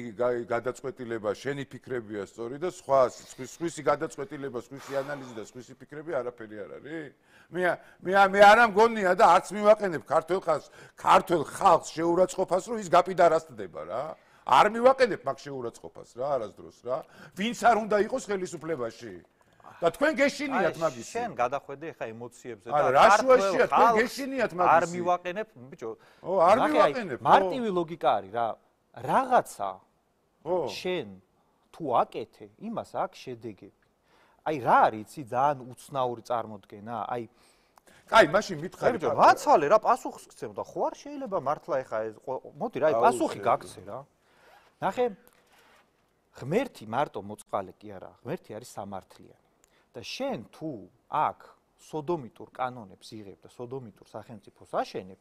გადაწყვეტილება, შენი ფიქრებია სწორი და სხვა სხვისი გადაწყვეტილება, სხვისი ანალიზი და სხვისი ფიქრები არაფერი არ არის. მე მე მე არ ამგონია და არც მივაყენებ ქართულ ხალხს, ქართულ ხალხს შეურაცხყოფას, რომ ის გაპიდარასტდება რა. არ მივაყენებ მაგ შეურაცხყოფას რა, არასდროს რა. ვინც არ უნდა იყოს ხელისუფლებაში. და თქვენ გეშინიათ მაგის. შენ გადახვედი ხა ემოციებზე და რაშუაშია თქვენ გეშინიათ მაგის. არ მივაყენებ, ბიჭო. ო, არ მივაყენებ. მარტივი ლოგიკა არის რა. რაღაცა შენ თუ აკეთე, იმას აქვს შედეგები. აი რა არის, იცი, ძალიან უცნაური წარმოდგენა, აი კაი, მაშინ მითხარი. ბიჭო, მაცალე რა პასუხს გცემ და ხო არ შეიძლება მართლა ეხა ეს მოდი რა, აი პასუხი გაგცე რა. ნახე ღმერთი მარტო მოწყალე კი არა, ღმერთი არის სამართლიანი. და შენ თუ აქ სოდომიტურ კანონებს იღებ და სოდომიტურ სახელმწიფოს აშენებ,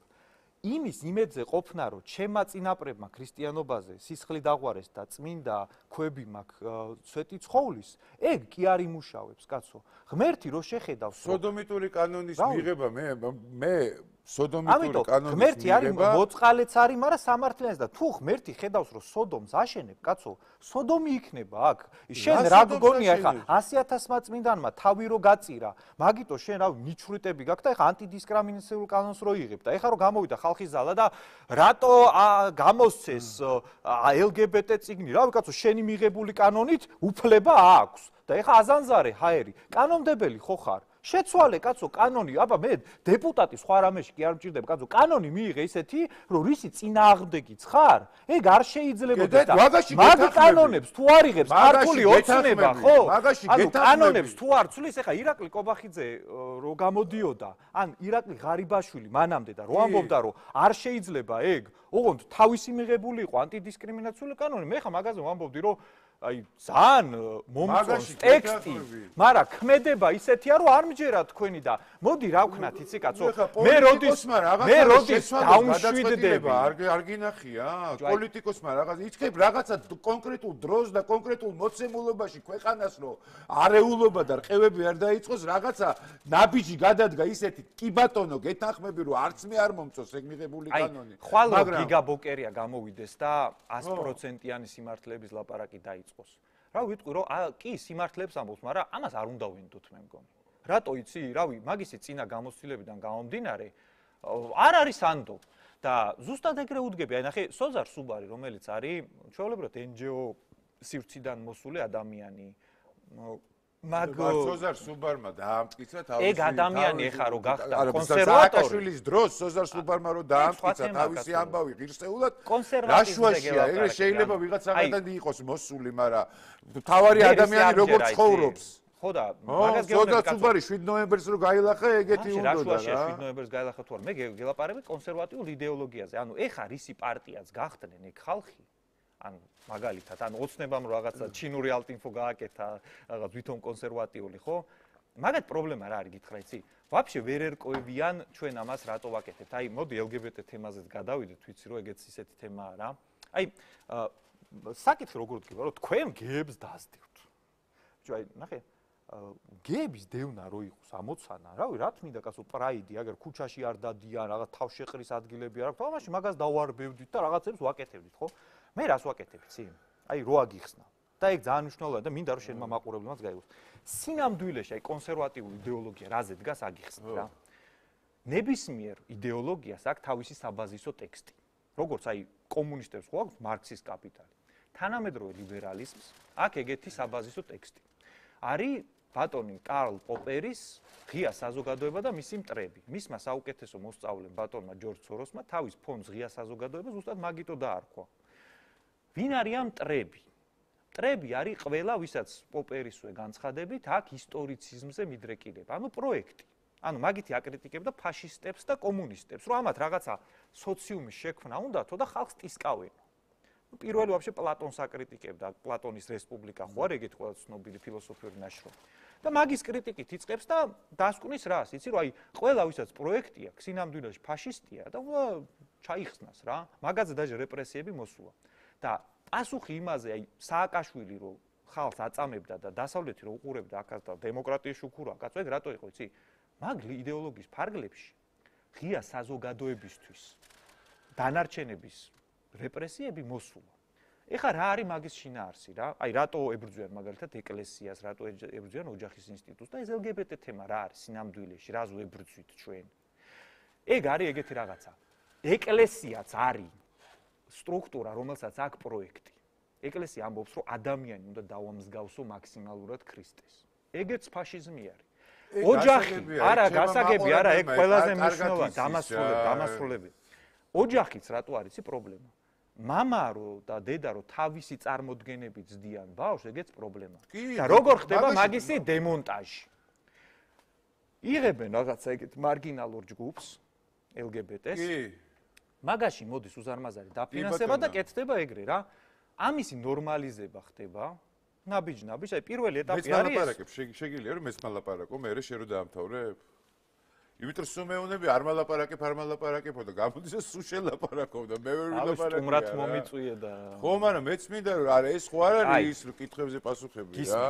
იმის იმედზე ყოფნა, რომ ჩემმა წინაპრებმა ქრისტიანობაზე სისხლი დაღვარეს და წმინდა ქვები მაქვს სვეტი ცხოვლის, ეგ კი არ იმუშავებს, კაცო. ღმერთი რო შეხედავს, სოდომიტური კანონის მიღება მე მე სოდომიტური კანონის ღმერთი არის მოწყალეც არის, მაგრამ სამართლიანიც და თუ ღმერთი ხედავს, რომ სოდომს აშენებ, კაცო, სოდომი იქნება აქ. შენ რა გგონია ხა ასი ათასმა წმინდანმა თავი რო გაწირა, მაგიტო შენ რა ნიჩვრიტები გაქვს და ეხა ანტიდისკრიმინაციულ კანონს რო იღებ და ეხა რო გამოვიდა ხალხის ზალა და რატო გამოსცეს ელ გი ბი ტი წიგნი, რავი კაცო, შენი მიღებული კანონით უფლება აქვს და ეხა აზანზარე ჰაერი, კანონმდებელი ხო ხარ? შეცვალე კაცო კანონი, აბა მე დეპუტატი სხვა რამეში კი არ მჭირდება, კაცო, კანონი მიიღე ისეთი, რომ რისი წინააღმდეგიც ხარ? ეგ არ შეიძლებოდა და მაგ კანონებს თუ არ იღებს ქართული ოცნება, ხო? ანუ კანონებს თუ არ ცვლის, ეხა ირაკლი კობახიძე რო გამოდიოდა, ან ირაკლი ღარიბაშვილი მანამდე და რო ამბობდა, რომ არ შეიძლება ეგ, ოღონდ თავისი მიღებული იყო ანტიდისკრიმინაციული კანონი, მე ხა მაგაზე ვამბობდი, რომ აი ძალიან მომწონს ტექსტი, მაგრამ ქმედება ისეთია, რომ არ მჯერა თქვენი და მოდი რა ვქნათ იცი კაცო, მე როდის მე როდის დაუმშვიდდება, არ არ გინახია, პოლიტიკოსმა რაღაც იცქებ რაღაცა კონკრეტულ დროს და კონკრეტულ მოცემულობაში ქვეყანას რო არეულობა და რყევები არ დაიწყოს, რაღაცა ნაბიჯი გადადგა ისეთი, კი ბატონო, გეთანხმები რომ არც მე არ მომწონს ეგ მიღებული კანონი. მაგრამ გიგაბოკერია გამოვიდეს და ას პროცენტიანი სიმართლეების ლაპარაკი დაიწყო. რა ვიტყვი რომ კი სიმართლეებს ამბობს, მაგრამ ამას არ უნდა ვინდოთ მე მგონი. რატო იცი, რავი, მაგისი წინა გამოცდილებიდან გამომდინარე არ არის ანდო და ზუსტად ეგრე უდგები. აი ნახე, სოზარ სუბარი, რომელიც არის ჩვეულებრივად εν ჯი ო სივრციდან მოსული ადამიანი. მაგ სოზარ სუბარმა დაამტკიცა თავისი ეგ ადამიანი ეხა რო გახდა კონსერვატორი. სააკაშვილის დროს სოზარ სუბარმა რო დაამტკიცა თავისი ამბავი ღირსეულად, რაშუაშია, ეგრე შეიძლება ვიღაცაგან იყოს მოსული, მაგრამ თავარი ადამიანი როგორ ცხოვრობს. ხო და მაგას გეუბნები სოზარ სუბარი შვიდ ნოემბერს რო გაილახა, ეგეთი უნდა და რა. რაშუაშია შვიდ ნოემბერს გაილახა თუ არ, მე გელაპარაკებ კონსერვატიულ იდეოლოგიაზე. ანუ ეხა რისი პარტიაც გახდნენ ეგ ხალხი, ანუ მაგალითად, ანუ ოცნებამ რაღაცა ჩინური ალტინფო გააკეთა, რაღაც ვითომ კონსერვატიული, ხო? მაგათ პრობლემა რა არის გითხრა, იცი? ვაფშე ვერ ერკვევიან ჩვენ ამას რატო ვაკეთებთ. აი, მოდი ელ გი ბი ტი თემაზეც გადავიდეთ, ვიცი რომ ეგეც ისეთი თემაა რა. აი, საკითხი როგორ დგება, რომ თქვენ გეებს დასდივთ. ბიჭო, აი, ნახე, გეების დევნა რო იყოს ამოცანა, რავი, რა თქმა უნდა, კაცო, პრაიდი, აგერ ქუჩაში არ დადიან, რაღაც თავშეყრის ადგილები არ აქვს, თამაში მაგას დავარბევდით და რაღაცებს ვაკეთებდით, ხო? მე რას ვაკეთებ, ცი? აი, რო აგიხსნა. და ეგ ძალიან მნიშვნელოვანია და მინდა რომ შენმა მაყურებლებმაც გაიგოს. სინამდვილეში, აი, კონსერვატიული იდეოლოგია რაზე დგას აგიხსნა რა. ნებისმიერ იდეოლოგიას აქვს თავისი საბაზისო ტექსტი. როგორც აი, კომუნისტებს ხო აქვს მარქსის კაპიტალი. თანამედროვე ლიბერალიზმს აქვს ეგეთი საბაზისო ტექსტი. არის ბატონი კარლ პოპერის ღია საზოგადოება და მისი მტრები. მისმა საუკეთესო მოსწავლემ ბატონმა ჯორჯ სოროსმა თავის ფონდს ღია საზოგადოება ზუსტად მაგიტო დაარქვა. ვინ არიან მტრები? მტრები არის ყველა, ვისაც პოპერისვე განცხადებით აქვს ისტორიციზმზე მიდრეკილება, ანუ პროექტი. ანუ მაგითი აკრიტიკებდა ფაშისტებს და კომუნისტებს, რომ ამათ რაღაცა სოციუმის შექმნა უნდათო და ხალხს ტისკავენ. პირველი ვაფშე პლატონს აკრიტიკებდა, პლატონის რესპუბლიკა ხო არის ეგეთი ყველა ცნობილი ფილოსოფიური ნაშრომი. და მაგის კრიტიკით იწყებს და დასკვნის რას, იცი რომ აი ყველა ვისაც პროექტი აქვს, სინამდვილეში ფაშისტია და ჩაიხსნას რა. მაგაზე დაჟე რეპრესიები მოსულა. და პასუხი იმაზე, აი სააკაშვილი რო ხალხს აწამებდა და დასავლეთი რო უყურებდა აქაც და დემოკრატიის შუქურა, კაცო, ეგ რატო იყო, იცი? მაგ იდეოლოგიის ფარგლებში ღია საზოგადოებისთვის დანარჩენების რეპრესიები მოსულა. ეხლა რა არის მაგის შინაარსი რა? აი რატო ებრძვიან მაგალითად ეკლესიას, რატო ებრძვიან ოჯახის ინსტიტუტს და ეს ელ გი ბი ტი თემა რა არის სინამდვილეში, რა ზუ ებრძვით ჩვენ? ეგ არის ეგეთი რაღაცა. ეკლესიაც არის სტრუქტურა, რომელსაც აქვს პროექტი. ეკლესია ამბობს, რომ ადამიანი უნდა დავამსგავსო მაქსიმალურად ქრისტეს. ეგეც ფაშიზმი არის. ოჯახი, არა, გასაგები არა, ეგ ყველაზე მნიშვნელოვანი დამასრულებელი, დამასრულებელი. ოჯახიც რატო არის პრობლემა? მამა რო და დედა რო თავისი წარმოდგენებით ზდიან ბავშვს, ეგეც პრობლემაა. და როგორ ხდება მაგისი დემონტაჟი? იღებენ რაღაცა ეგეთ მარგინალურ ჯგუფს, ელ გი ბი ტეს. კი. მაგაში მოდის უზარმაზარი დაფინანსება და კეთდება ეგრე რა. ამისი ნორმალიზება ხდება. ნაბიჯ-ნაბიჯ, აი პირველი ეტაპი არის. მეც მალაპარაკებ, შეგიძლია რომ მეც მალაპარაკო, მე შე რო დაამთავრებ. იმიტომ რომ მეუნები არ მალაპარაკებ, არ მალაპარაკებო და გამოდის ეს სულ შელაპარაკო და მე ვერ ვილაპარაკე. აი, სტუმრად მომიწვიე და ხო, მაგრამ მეც მინდა რომ არა ეს ხო არ არის ის კითხვებზე პასუხები რა.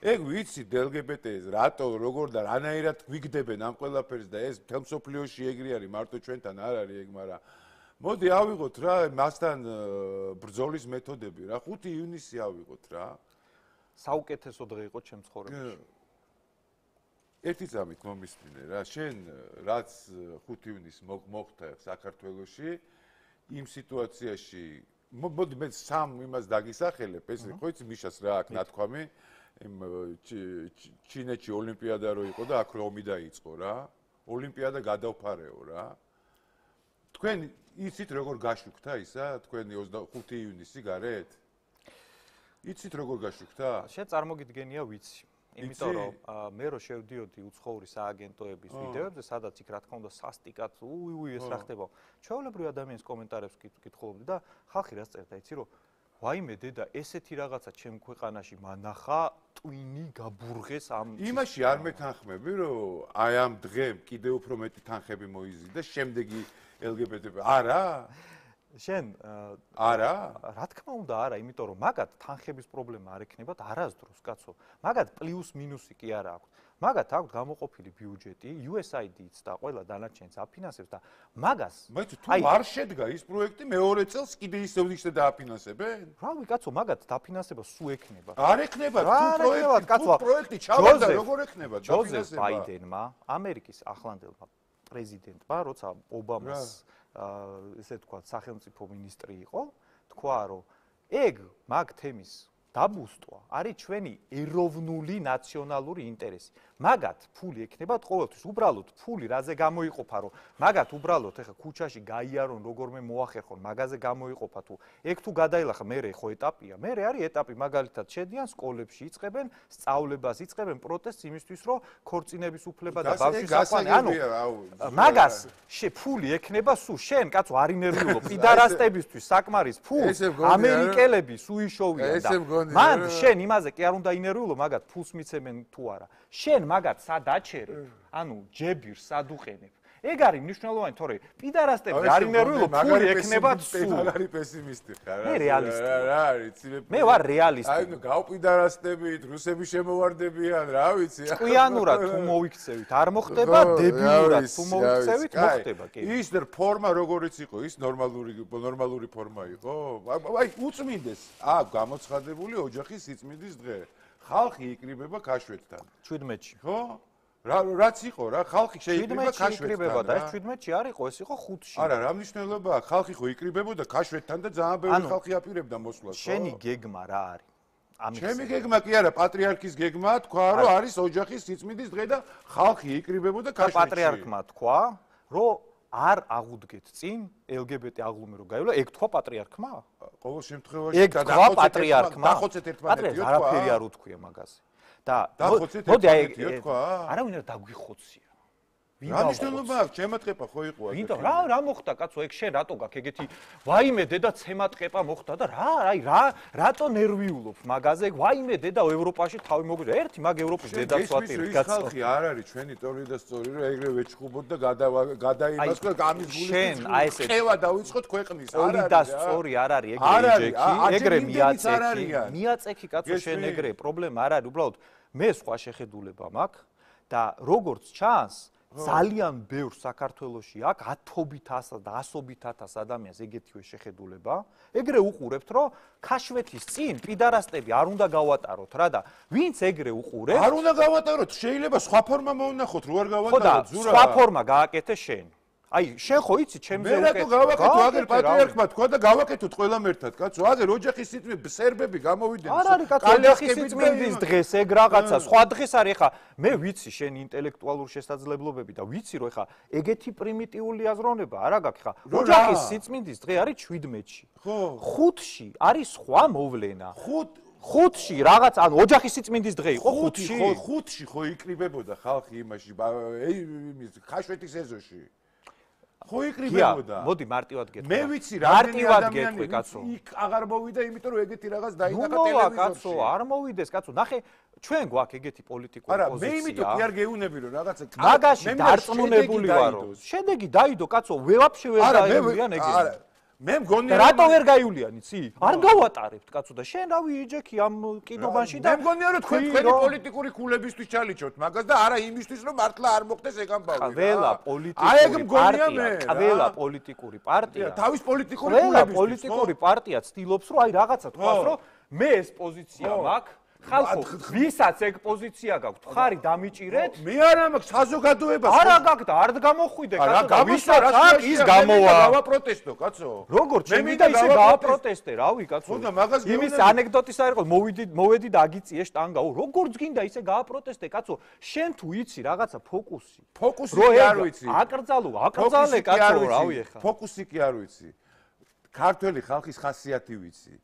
ეგ ვიცი დელგებეტეს რატო როგორ და რანაირად გვიგდებენ ამ ყველაფერს და ეს მთელ მსოფლიოში ეგრე არის მარტო ჩვენთან არ არის ეგ, მაგრამ მოდი ავიღოთ რა მასთან ბრძოლის მეთოდები რა ხუთი ივნისი ავიღოთ რა. საუკეთესო დღე იყო ჩემს ცხოვრებაში. ერთი წამით მომისმინე რა შენ რაც ხუთი ივნისს მოხდა საქართველოში იმ სიტუაციაში მოდი მე სამ იმას დაგისახელებ ეს ხო იცი მიშას რა აქ ნათქვამი იმ ჩინეთში ოლიმპიადა რო იყო და აქ რომი დაიწყო რა ოლიმპიადა გადავფარეო რა თქვენ იცით როგორ გაშუქთა ისა თქვენი ოცდახუთი ივნისი გარეთ იცით როგორ გაშუქთა შენ წარმოგიდგენია ვიცი იმიტომ რომ მე რო შევდიოდი უცხოური სააგენტოების ვიდეოებზე, სადაც იქ რა თქმა უნდა სასტიკად, უი უი ეს რა ხდება. ჩვეულებრივ ადამიანის კომენტარებს კითხულობდი და ხალხი რას წერდა, იცი რომ ვაიმე დედა, ესეთი რაღაცა ჩემ ქვეყანაში მანახა, ტვინი გაბურღეს ამ იმაში არ მეთანხმები, რომ აი ამ დღემ კიდევ უფრო მეტი თანხები მოიზიდა, შემდეგი ელგებეტები არა? შენ არა რა თქმა უნდა არა იმიტომ რომ მაგათ თანხების პრობლემა არ ექნებათ არასდროს კაცო მაგათ პლუს მინუსი კი არა აქვს მაგათ აქვს გამოყოფილი ბიუჯეტი იუ ეს აი დი-ც და ყველა დანარჩენს აფინანსებს და მაგას მაგრამ თუ არ შედგა ის პროექტი მეორე წელს კიდე ისევ ისე დააფინანსებენ რავი კაცო მაგათ დაფინანსება სულ ექნება არ ექნება თუ პროექტი თუ პროექტი ჩავარდა როგორ ექნება დაფინანსება ჯოზეფ ბაიდენმა ამერიკის ახლანდელმა პრეზიდენტმა როცა ობამას ესე თქვა სახელმწიფო მინისტრი იყო თქვა რომ ეგ მაგ თემის დაბუსტვა არის ჩვენი ეროვნული ნაციონალური ინტერესი მაგათ ფული ექნებათ ყოველთვის უბრალოდ ფული რაზე გამოიყოფა რომ მაგათ უბრალოდ ეხა ქუჩაში გაიარონ როგორმე მოახერხონ მაგაზე გამოიყოფა თუ ეგ თუ გადაილახა მერე ხო ეტაპია მერე არის ეტაპი მაგალითად შედიან სკოლებში იწყებენ სწავლებას იწყებენ პროტესტს იმისთვის რომ ქორწინების უფლება და ბავშვის საყვანე ანუ მაგას ფული ექნება სულ შენ კაცო არ ინერვიულობ პიდარასტებისთვის საკმარის ფულს ამერიკელები სუიშოვიან და მან შენ იმაზე კი არ უნდა ინერვიულო მაგათ ფულს მიცემენ თუ არა შენ მაგათ სად აჩერებ ანუ ჯებირს სად უყენებ ეგ არის მნიშვნელოვანი თორე პიდარასტები არ ინერვიულო ფული ექნებათ სულ არ არის პესიმისტი ხარ მე რეალისტი რა არის მე ვარ რეალისტი აი ნუ გავპიდარასტებით რუსები შემოვარდებიან რა ვიცი ჭკვიანურად თუ მოიქცევით არ მოხდება დებილურად თუ მოიქცევით მოხდება კი ის ფორმა როგორიც იყო ის ნორმალური ნორმალური ფორმა იყო აი უწმინდეს აქ გამოცხადებული ოჯახის სიწმინდის დღე ხალხი იკრიბება ქაშვეთთან შვიდმეტში ხო რა რაც იყო რა ხალხი შეიკრიბება ქაშვეთთან და ეს შვიდმეტში არ იყო ეს იყო ხუთში არა რა მნიშვნელობაა ხალხი ხო იკრიბებოდა ქაშვეთთან და ძალიან ბევრი ხალხი აპირებდა მოსვლას ხო შენი გეგმა რა არის ამის ჩემი გეგმა კი არა პატრიარქის გეგმა თქვა რომ არის ოჯახის სიწმინდის დღე და ხალხი იკრიბებოდა ქაშვეთში პატრიარქმა თქვა რომ არ აღუდგეთ წინ ელ გი ბი ტი აღლუმი რო გაივლა ეგ თქვა პატრიარქმა ყოველ შემთხვევაში დახოცეთ პატრიარქმა დახოცეთ ერთმანეთიო თქვა არაფერი არ უთქვია მაგაზე და მოდი აი არავინ არ დაგვიხოცია რა მნიშვნელობა აქვს ჩემატყეპა ხო იყო აქ ვინდა რა რა მოხდა კაცო ეგ შენ რატო გაქვს ეგეთი ვაიმე დედა ცემატყეპა მოხდა და რა აი რა რატო ნერვიულობ მაგაზე ვაიმე დედა ევროპაში თავი მოგვიდა ერთი მაგ ევროპის დედაც ვატირი კაცო ხალხი არ არის ჩვენი ტორი და სწორი რომ ეგრე ვეჩხუბოთ და გადაიმას და გამის გული შენ აი ესე ხევა დაიწყოთ ქვეყნის არ არის და სწორი არ არის ეგრე ჯექი ეგრე მიაწექი მიაწექი კაცო შენ ეგრე პრობლემა არ არის უბრალოდ მე სხვა შეხედულება მაქვს და როგორც ჩანს ძალიან ბევრ საქართველოში აქ ათობით ათასს და ასობით ათასს ადამიანს ეგეთივე შეხედულება. ეგრე უყურებთ, რომ ქაშვეთის წინ პიდარასტები არ უნდა გავატაროთ რა და ვინც ეგრე უყურებს არ უნდა გავატაროთ, შეიძლება სხვა ფორმა მოუნახოთ, რო არ გავატაროთ, ზურა. სხვა ფორმა გააკეთე შენ. აი, შენ ხო იცი, ჩემზე უკეთ. მე რატო გავაკეთო, აგერ პატრიარქმა თქვა და გავაკეთოთ ყველამ ერთად, კაცო. აგერ ოჯახის სიწმინდის სერბები გამოვიდნენ. არ არის კაცო, ოჯახის სიწმინდის დღეს ეგ რაღაცა, სხვა დღეს არის ხა. მე ვიცი შენ ინტელექტუალური შესაძლებლობები და ვიცი რომ ხა ეგეთი პრიმიტიული აზროვნება არა გაქვს ხა. ოჯახის სიწმინდის დღე არის შვიდმეტში. ხო. ხუთში არის სხვა მოვლენა. ხუთ ხუთში რაღაც ანუ ოჯახის სიწმინდის დღე იყო ხუთში. ხო, ხუთში ხო იკრიბებოდა ხალხი იმაში, იმის ხაშვეთის ეზოში. ხო იკრიბებოდა. მოდი მარტივად გეტყვი. მე ვიცი რა მარტივად გეტყვი კაცო. იქ აღარ მოვიდა, იმიტომ რომ ეგეთი რაღაც დაინახა ტელევიზორში. კაცო, არ მოვიდეს კაცო. ნახე, ჩვენ გვაქვს ეგეთი პოლიტიკური პოზიცია. არა, მე იმიტომ კი არ გეუნები რომ რაღაცა მაგაში დარწმუნებული ვარო. შედეგი დაიდო კაცო, ვეაფშე ვერ დაივლიან ეგეთი. არა, მე მგონია რატო ვერ გაივლიან იცი? არ გავატარებთ კაცო და შენ რავი იჯექი ამ კინობაში და მე მგონია რომ თქვენ თქვენი პოლიტიკური ქულებისთვის ჩალიჩოთ მაგას და არა იმისთვის რომ მართლა არ მოხდეს ეგ ამბავი. ყველა პოლიტიკური პარტია, ყველა პოლიტიკური პარტია, თავის პოლიტიკური ქულებისთვის, პოლიტიკური პარტია ცდილობს რომ აი რაღაცა თქვას რომ მე ეს პოზიცია მაქვს ხალხო, ვისაც ეგ პოზიცია გაქვთ, ხარი დამიჭირეთ? მე არა მაქვს საზოგადოებას. არა გაქვთ, არ გამოხვიდე კაცო და ვისაც აქვს ის გამოვა. გავაპროტესტო კაცო. როგორ შემიდა ისე გავაპროტესტე, რავი კაცო. ხოდა მაგას გეუბნები. იმის ანეკდოტის არ იყო, მოვიდი, მოვედი და აგიწიე შტანგაო. როგორც გინდა ისე გავაპროტესტე კაცო. შენ თუ იცი რაღაცა ფოკუსი. ფოკუსი კი არ ვიცი. აკრძალო, აკრძალე კაცო, რავი ეხა. ფოკუსი კი არ ვიცი. ქართველი ხალხის ხასიათი ვიცი.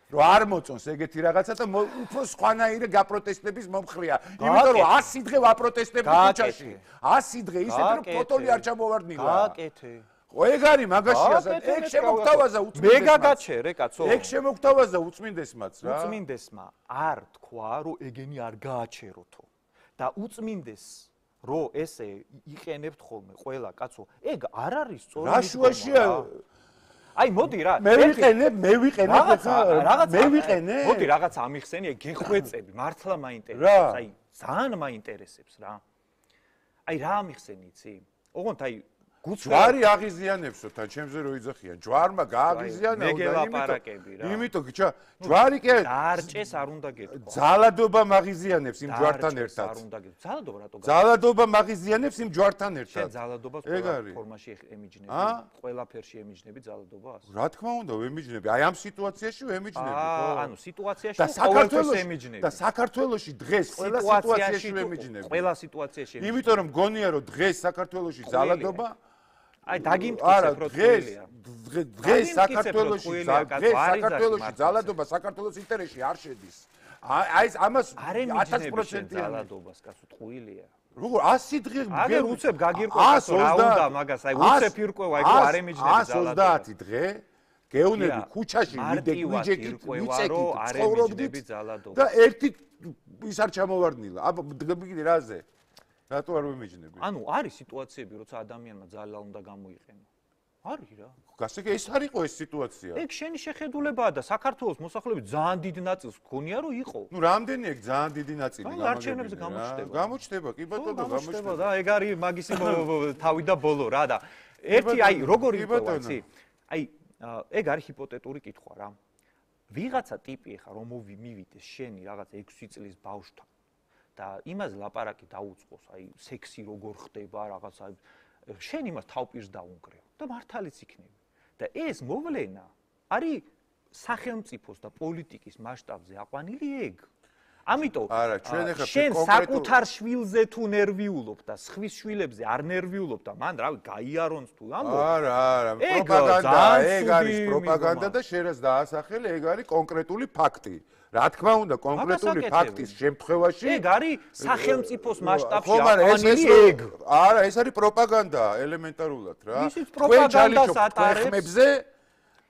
რომ არ მოწონს ეგეთი რაღაცა და უფრო სხვანაირი გაპროტესტების მომხრია. იმიტომ რომ ასი დღე ვაპროტესტებდი ქუჩაში. ასი დღე ისეთი რომ ფოტოლი არ ჩამოვარდნილა. გააკეთე. ხო ეგ არის მაგაში ასეთ. ეგ შემოგთავაზა უწმინდესმა. მე გაგაჩერე კაცო. ეგ შემოგთავაზა უწმინდესმაც რა. უწმინდესმა არ თქვა რომ ეგენი არ გააჩეროთო. და უწმინდეს რომ ესე იყენებთ ხოლმე ყველა კაცო. ეგ არ არის სწორი. რა შუაშია აი მოდი რა მე ვიყენებ მე ვიყენებ რაღაცა მე ვიყენებ მოდი რაღაცა ამიხსენია გეხვეწები მართლა მაინტერესებს აი ძალიან მაინტერესებს რა აი რა ამიხსენი იცი ოღონდ აი ჯვარი აღიზიანებსო თან ჩემზე რო იძახიან ჯვარმა გააღიზიანა და მეგელაპარაკები რა იმიტომ გიჩა ჯვარი კი დარჭეს არ უნდა გეთქვა ძალადობა მაგიზიანებს იმ ჯვართან ერთად არ უნდა გეთქვა ძალადობა რატო ძალადობა მაგიზიანებს იმ ჯვართან ერთად შენ ძალადობას ყველა ფორმაში ემიჯნები ყველაფერში ემიჯნები ძალადობას რა თქმა უნდა ვემიჯნები აი ამ სიტუაციაში ვემიჯნები ხო ანუ სიტუაციაში ყოველთვის ემიჯნები და საქართველოში დღეს ყველა სიტუაციაში ვემიჯნები ყველა სიტუაციაში იმიტომ რომ გონია რომ დღეს საქართველოში ძალადობა აი დაგიმტკიცებ რო თვლია დღეს საქართველოში დღეს საქართველოში ძალადობა საქართველოს ინტერესში არ შედის აი ეს ამას ათას პროცენტი ძალადობას კაცო თვლია როგორ ასი დღე აგერ უცებ გაგირკვევა რა უნდა მაგას აი უცებ ირკვევა ეგ არ ემიჯნები ძალადობას ას ოცდაათი დღე გეუნები ქუჩაში ვიდექ ვიჯექით ვიწეკით ცხოვრობდით და ერთი ის არ ჩამოვარდნილა აბა დგები რაზე რატო არ ვემიჯნები? ანუ არის სიტუაციები, როცა ადამიანმა ძალა უნდა გამოიყენო. არის რა. გასაგე ეს არ იყო ეს სიტუაცია. ეგ შენი შეხედულებაა და საქართველოს მოსახლეობის ძალიან დიდ ნაწილს გქონია რომ იყო. ნუ რამდენი ეგ ძალიან დიდი ნაწილი გამოგება. არჩევნებზე გამოჩნდება. გამოჩნდება, კი ბატონო, გამოჩნდება და ეგ არის მაგისი თავი და ბოლო რა და ერთი აი როგორი იყო იცი? აი ეგ არის ჰიპოთეტური კითხვა რა. ვიღაცა ტიპი ხა რომ მივიდეს შენი რაღაც ექვსი წლის ბავშვთან და იმაზე ლაპარაკი დაუწყოს, აი სექსი როგორ ხდება, რაღაც აი შენ იმას თავპირს დაუნგრევ და მართალიც იქნები. და ეს მოვლენა არის სახელმწიფოს და პოლიტიკის მასშტაბზე აყვანილი ეგ. ამიტომ არა, ჩვენ ახლა შენ საკუთარ შვილზე თუ ნერვიულობ და სხვის შვილებზე არ ნერვიულობ და მან რავი გაიარონს თუ ამბობ. არა, არა, პროპაგანდა, ეგ არის პროპაგანდა და შენაც დაასახელე, ეგ არის კონკრეტული ფაქტი. რა თქმა უნდა, კონკრეტული ფაქტის შემთხვევაში ეგ არის სახელმწიფოს მასშტაბში აყვანილი ეგ. არა, ეს არის პროპაგანდა ელემენტარულად რა. ისიც პროპაგანდას ატარებს ხმებზე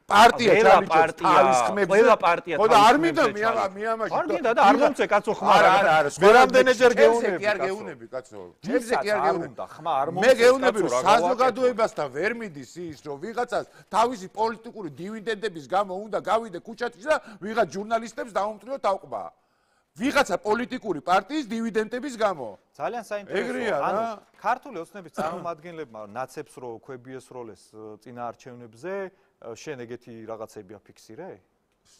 პარტია ჩალიჩობს თავის ხმებზე. ყველა პარტია ხო და არ მინდა მიამაში. არ მინდა და არ მომწე კაცო ხმა. არა, არა, არა. მერამდენეჯერ გეუნები. კი არ გეუნები კაცო. ჩემზე კი არ გეუნები. ხმა არ მომწე. მე გეუნები რომ საზოგადოებასთან ვერ მიდის ის რომ ვიღაცას თავისი პოლიტიკური დივიდენდების გამო უნდა გავიდე ქუჩაში და ვიღაც ჟურნალისტებს დაუმტვრიო თავყბა. ვიღაცა პოლიტიკური პარტიის დივიდენდების გამო. ძალიან საინტერესოა. ანუ ქართული ოცნების წარმომადგენლებმა ნაცებს რო ქვებიეს როლეს წინა არჩევნებზე შენ ეგეთი რაღაცები აფიქსირე?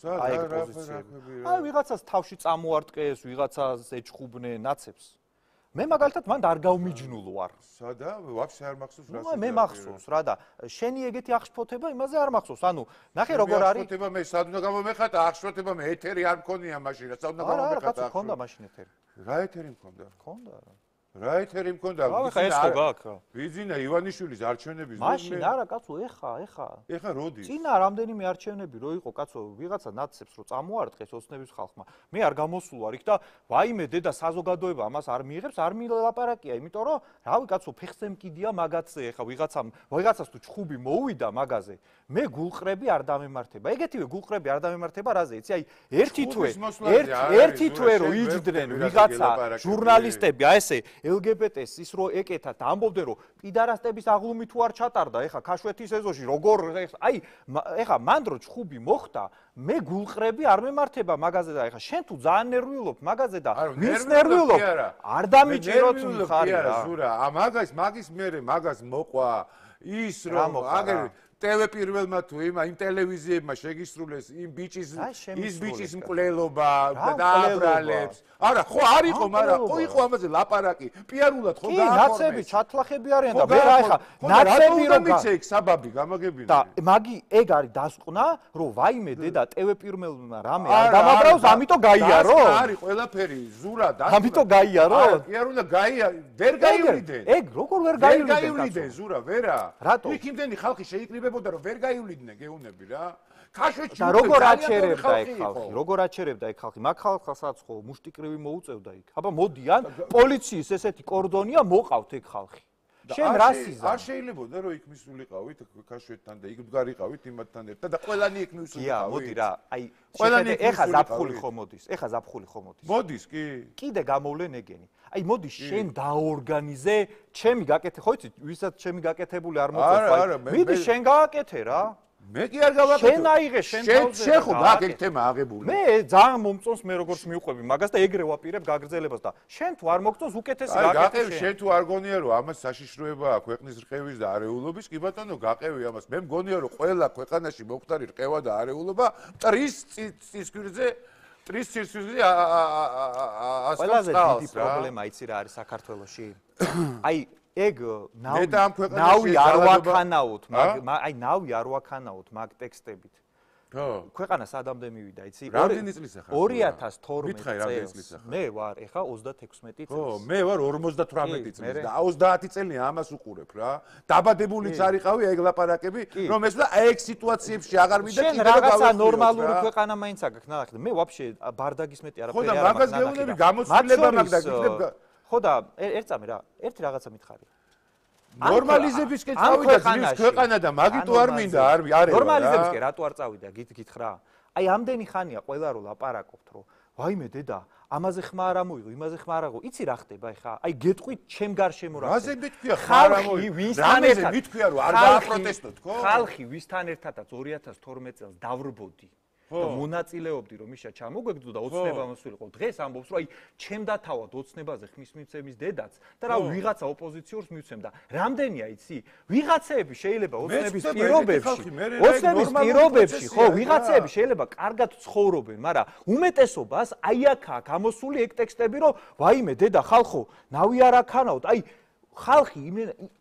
აი ეგ პოზიციები. აი ვიღაცას თავში წამოარტყეს, ვიღაცას ეჩხუბნენ ნაცებს. მე მაგალითად მანდ არ გავმიჯნულ ვარ. სადა? ვაფშე არ მახსოვს რა. ნუ მე მახსოვს რა და შენი ეგეთი აღშფოთება იმაზე არ მახსოვს. ანუ ნახე როგორ არის. აღშფოთება მე სად უნდა გამომეხატა? აღშფოთება მე ეთერი არ მქონია მაშინ რა. სად უნდა გამომეხატა? არა, რა კაცო, მქონდა მაშინ ეთერი. რა ეთერი მქონდა? მქონდა რა. რა ეთერი მქონდა? ხა ეს ხო გაქვს რა. ვიძინა ივანიშვილის არჩევნების მაშინ არა კაცო, ეხა, ეხა. ეხა როდის? წინა რამდენიმე არჩევნები რო იყო კაცო, ვიღაცა ნაცებს რო წამოარტყეს ოცნების ხალხმა. მე არ გამოსულ ვარ იქ და ვაიმე დედა საზოგადოება ამას არ მიიღებს, არ მილაპარაკია, იმიტომ რომ რავი კაცო, ფეხზე მკიდია მაგაცე, ეხა ვიღაცამ, ვიღაცას თუ ჩხუბი მოუვიდა მაგაზე. მე გულყრები არ დამემართება. ეგეთივე გულყრები არ დამემართება რაზე? იცი, აი ერთი თვე, ერთი თვე რო იჯდნენ ვიღაცა ჟურნალისტები, აი ესე ელ გი ბი ტეს ის რო ეკეთათ ამბობდნენ რომ პიდარასტების აღლუმი თუ არ ჩატარდა ეხა ქაშვეთის ეზოში როგორ აი ეხა მან რო ჩხუბი მოხდა მე გულყრები არ მემართება მაგაზე და ეხა შენ თუ ძალიან ნერვიულობ მაგაზე და ვის ნერვიულობ არ დამიჭიროთ მხარი რა ზურა მაგას მაგის მერე მაგას მოყვა ის რომ აგერ ტევ პირველმა თუ იმ იმ ტელევიზიებმა შეგისრულეს იმ ბიჭის ის ბიჭის მკვლელობა და დააბრალებს არა ხო არ იყო მაგრამ ხო იყო ამაზე ლაპარაკი პიარულად ხო გააკორნეს კი ნაცები ჩათლახები არიან და მე რა ეხა ნაცები რომ მიცე იქ საბაბი გამაგებინა და მაგი ეგ არის დასკვნა რომ ვაიმე დედა ტევ პირველმა რამე არ დამაბრავს ამიტომ გაიარო არის ყველაფერი ზურა და ამიტომ გაიარო პიარულა გაიარო ვერ გაივლიდენ ეგ როგორ ვერ გაივლიდენ ზურა ვერა იქ იმდენი ხალხი შეიკრიბებოდა რომ ვერ გაივლიდნენ გეუნები რა ქაშვეთში და როგორ აჩერებდა ეგ ხალხი როგორ აჩერებდა ეგ ხალხი მაგ ხალხსაც ხო მუშტიკრივი მოუწევდა იქ აბა მოდიან პოლიციის ესეთი კორდონია მოყავთ ეგ ხალხი შენ რასიზა არ შეიძლებოდა რომ იქ მისულიყავით ქაშვეთთან და იქ მდგარიყავით იმათთან ერთად და ყველანი იქ მისულიყავით ია მოდი რა აი ყველანი ეხა ზაფხული ხო მოდის ეხა ზაფხული ხო მოდის მოდის კი კიდე გამოვლენ ეგენი აი მოდი შენ დაორგანიზე ჩემი გაკეთე ხო იცი ვისაც ჩემი გაკეთებული არ მოწევს მიდი შენ გააკეთე რა მე კი არ გავაკეთე შენ აიღე შენ თავზე შენ ხო გაკეთე თემა აღებული მე ძალიან მომწონს მე როგორც მიუყვები მაგას და ეგრე ვაპირებ გაგრძელებას და შენ თუ არ მოგწონს უკეთესი გაკეთე შენ თუ არ გონია რომ ამას საშიშროებაა ქვეყნის რყევის და არეულობის კი ბატონო გაყევი ამას მე მგონია რომ ყველა ქვეყანაში მოხდარი რყევა და არეულობა მტრის წისქვირზე ტრის ცირცვიზე ასწავლს ყველაზე დიდი პრობლემა იცი რა არის საქართველოში აი ეგ ნავი არ ვაქანაოთ მაგ აი ნავი არ ვაქანაოთ მაგ ტექსტებით ხო ქვეყანა სადამდე მივიდა იცი რამდენი წლის ახლა ორი ათას თორმეტი წელს მე ვარ ეხა ოცდათექვსმეტი წელს ხო მე ვარ ორმოცდათვრამეტი წლის და ოცდაათი წელია ამას უყურებ რა დაბადებულიც არიყავი ეგ ლაპარაკები რომ ეს და ეგ სიტუაციებში აღარ მიდა კიდე რაღაცა ნორმალური ქვეყანა მაინც აქვს ნახე მე ვაფშე ბარდაგის მეტი არაფერი არ მაგას გეუბნები გამოცდილება მაგ და გიქნებ ხო და ერთწამე რა ერთი რაღაცა მითხარი ნორმალიზებისკენ წავიდა ძვის ქვეყანა და მაგიტო არ მინდა არ არის ნორმალიზებისკენ რატო არ წავიდა გითხრა აი ამდენი ხანია ყველა რო ლაპარაკობთ რომ ვაიმე დედა ამაზე ხმა არ ამოიღო იმაზე ხმა არ აღო იცი რა ხდება ეხა აი გეტყვით ჩემ გარშემო რა რაზე მეთქვია ხმა არ ამოიღო რამეზე მეთქვია რომ არ დააპროტესტოთ ხო ხალხი ვისთან ერთადაც ორი ათას თორმეტი წელს დავრბოდი და მონაწილეობდი რომ იშა ჩამოგვეგდო და ოცნება მოსულიყო დღეს ამბობს რომ აი ჩემ დათავად ოცნებაზე ხმის მიცემის დედაც და რა ვიღაცა ოპოზიციურს მივცემდა რამდენია იცი ვიღაცეები შეიძლება ოცნების პირობებში ოცნების პირობებში ხო ვიღაცეები შეიძლება კარგად ცხოვრობენ მაგრამ უმეტესობას აი აქაა გამოსული ეგ ტექსტები რომ ვაიმე დედა ხალხო ნავი არ აქანაოთ აი ხალხი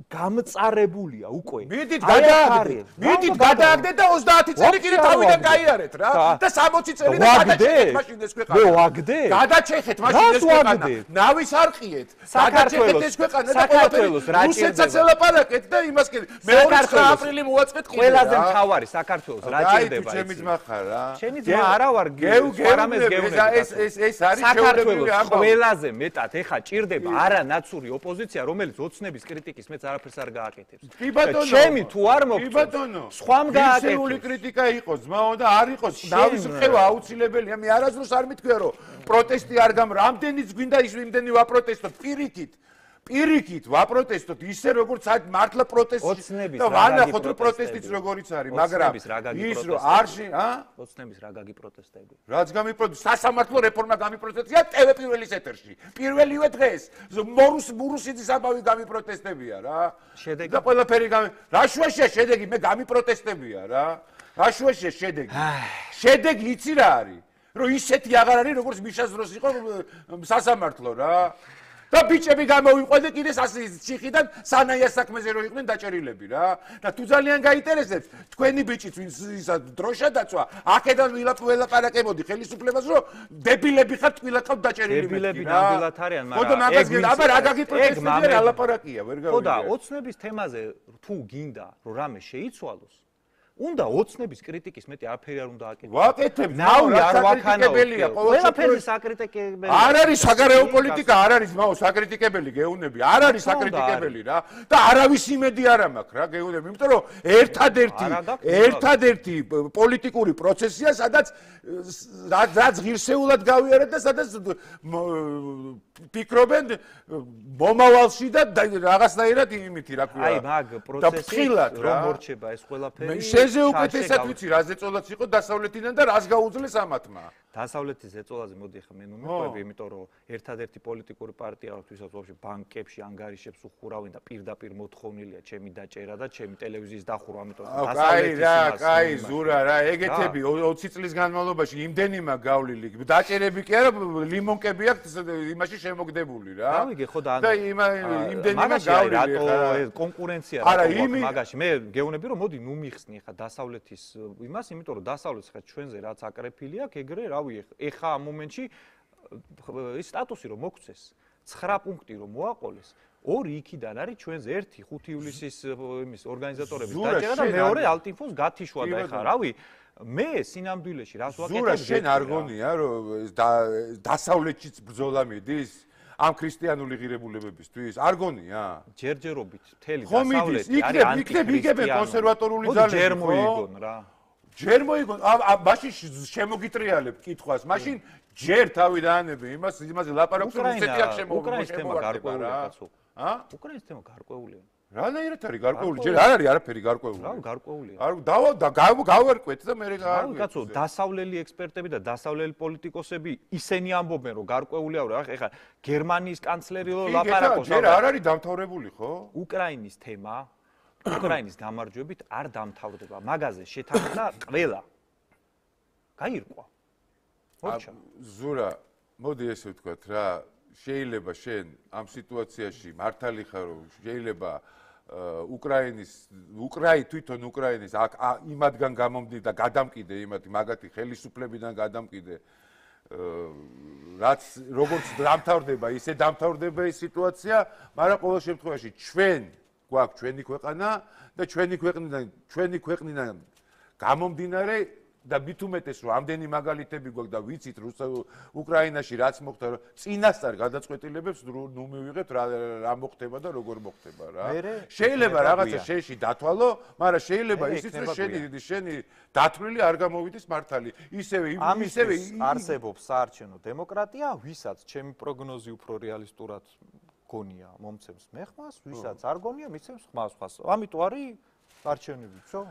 გამწარებულია უკვე. მიდით გადააგდეთ. მიდით გადააგდეთ და ოცდაათი წელი კიდე თავიდან გაიარეთ რა. და სამოცი წელი და გადაჭეხეთ მაშინ ეს ქვეყანა. მე ვაგდე? გადაჭეხეთ მაშინ ეს ქვეყანა. ნავის არყიეთ. გადაჭეხეთ ეს ქვეყანა და საქართველოს რა ჭირდება. რუსეთსაც ელაპარაკეთ და იმას კიდე მეორე აპრილი მოვაწყეთ კიდე. ყველაზე მთავარი საქართველოს რა ჭირდება. აი ჩემი ძმა ხარ რა. შენი ძმა არა ვარ გეუ არამედ გეუნები. ეს ეს ეს არის საქართველოს ყველაზე მეტად ეხა ჭირდება არანაცური ოპოზიცია რომელიც ოცნების კრიტიკის მეც არაფერს არ გააკეთებს. კი ბატონო. ჩემი თუ არ მოგწონს. კი ბატონო. სხვამ გააკეთებს. ისეული კრიტიკა იყოს, ძმაო და არ იყოს. ნავის რხევა აუცილებელია. მე არასდროს არ მithქვია რომ პროტესტი არ გამ რამდენიც გვინდა ის იმდენი ვაპროტესტოთ პირიქით. პირიქით ვაპროტესტოთ ისე როგორც აი მართლა პროტესტი და ვანახოთ რომ პროტესტიც როგორიც არის, მაგრამ ის რომ არში, ა? ოცნების რა გაგი პროტესტები. რაც გამიპროტესტი, სასამართლო რეფორმა გამიპროტესტია ტევ პირველის ეთერში. პირველივე დღეს მორუს მურუსიძის ამბავი გამიპროტესტებია რა. შედეგი და ყველაფერი გამი რა შუაშია შედეგი, მე გამიპროტესტებია რა. რა შუაშია შედეგი? შედეგი იცი რა არის? რომ ისეთი აღარ არის როგორც მიშას დროს იყო სასამართლო რა. და ბიჭები გამოვიყვანე კიდე ციხიდან სანაიას საქმეზე რო იყვნენ დაჭერილები რა. და თუ ძალიან გაინტერესებს თქვენი ბიჭიც ვინც ისა დროშა დაწვა, აქედან ვილაპარაკებოდი ხელისუფლებას რომ დებილები ხართ ვილაყავთ დაჭერილი მეთქი რა. დებილები ნამდვილად არიან, მაგრამ ხო და მაგას აბა რა გაგიპროტესტებია რა ლაპარაკია, ვერ გავიგე. ხო და ოცნების თემაზე თუ გინდა რომ რამე შეიცვალოს უნდა ოცნების კრიტიკის მეტი არაფერი არ უნდა აკეთოს. ვაკეთებ, ნავი არ ვაკანაებელია, ყველაფერი საკრიტიკებელია. არ არის საგარეო პოლიტიკა, არ არის მაო საკრიტიკებელი გეუნები, არ არის საკრიტიკებელი რა. და არავის იმედი არ მაქვს რა გეუნები, იმიტომ რომ ერთადერთი ერთადერთი პოლიტიკური პროცესია, სადაც რაც ღირსეულად გავიარეთ და სადაც ფიქრობენ მომავალში და რაღაცნაირად იმითი რა ქვია. აი მაგ პროცესში რომ მორჩება ეს ყველაფერი შენზე უკეთესად ვიცი რა ზეწოლაც იყო დასავლეთიდან და რას გაუძლეს ამათმა. დასავლეთის ზეწოლაზე მოდი ხა მე ნუ მეყვები, იმიტომ რომ ერთადერთი პოლიტიკური პარტია აქვს, ვისაც ვაფშე ბანკებში, ანგარიშებს უხურავენ და პირდაპირ მოთხოვნილია ჩემი დაჭერა და ჩემი ტელევიზიის დახურვა, ამიტომ დასავლეთის რა, კაი, ზურა რა, ეგეთები ოცი წლის განმავლობაში იმდენიმა გავლილი. დაჭერები კი არა, ლიმონკები აქვს იმაში შემოგდებული რა. გავიგე ხო და და იმდენიმა გავლილი რატო კონკურენცია რატო მაგაში მე გეუბნები რომ მოდი ნუ მიხსნი ხა დასავლეთის იმას, იმიტომ რომ დასავლეთს ხა ჩვენზე რაც აკრეფილი აქვს, ეგრე რავი ეხა ამ მომენტში ის სტატუსი რომ მოგვცეს, ცხრა პუნქტი რომ მოაყოლეს, ორი იქიდან არის ჩვენზე, ერთი ხუთი ივლისის იმის ორგანიზატორების დაჭერა და მეორე ალტინფოს გათიშვა და ეხა რავი მე სინამდვილეში რას ვაკეთებ? ზურა შენ არ გონია რომ დასავლეთშიც ბრძოლა მიდის? ამ ქრისტიანული ღირებულებებისთვის არ გონია? ჯერჯერობით მთელი დასავლეთი არის ანტიქრისტიანი. იქნებ იგებენ კონსერვატორული ძალები, ჯერ მოიგონ რა. ჯერ მოიგონ, მაშინ შემოგიტრიალებ კითხვას, მაშინ ჯერ თავი დაანები იმას, იმაზე ლაპარაკობს რომ რუსეთი აქ შემოვიდა. უკრაინის თემა გარკვეულია კაცო. ა? უკრაინის თემა გარკვეულია. რანაირად არის გარკვეული? ჯერ არ არის არაფერი გარკვეული. რა გარკვეულია? არ და გავარკვეთ და მე რა გავარკვეთ. კაცო, დასავლელი ექსპერტები და დასავლელი პოლიტიკოსები ისენი ამბობენ რომ გარკვეულია რა. ეხლა გერმანიის კანცლერი ლაპარაკობს. ჯერ არ არის დამთავრებული ხო? უკრაინის თემა უკრაინის გამარჯვებით არ დამთავრდება. მაგაზე შეთანხმდა ყველა. გაირკვა. მოჩა. ზურა, მოდი ესე ვთქვათ რა, შეიძლება შენ ამ სიტუაციაში მართალი ხარ რომ შეიძლება უკრაინის უკრაი თვითონ უკრაინის აქ იმათგან გამომდი და გადამკიდე იმათი მაგათი ხელისუფლებიდან გადამკიდე რაც როგორც დამთავრდება ისე დამთავრდება ეს სიტუაცია, მაგრამ ყოველ შემთხვევაში ჩვენ გვაქვს ჩვენი ქვეყანა და ჩვენი ქვეყნიდან ჩვენი ქვეყნიდან გამომდინარე და მით უმეტეს რომ ამდენი მაგალითები გვაქვს და ვიცით უკრაინაში რაც მოხდა წინასწარ გადაწყვეტილებებს ნუ მივიღებთ რა მოხდება და როგორ მოხდება რა. შეიძლება რაღაცა შენში დათვალო, მაგრამ შეიძლება ისიც რომ შენი შენი დათვლილი არ გამოვიდეს მართალი. ისევე ისევე არსებობს საარჩევნო დემოკრატია, ვისაც ჩემი პროგნოზი უფრო რეალისტურად გონია მომცემს მეხმას, ვისაც არ გონია მიცემს ხმას ხმას. ამიტომ არის არჩევნები, ხო?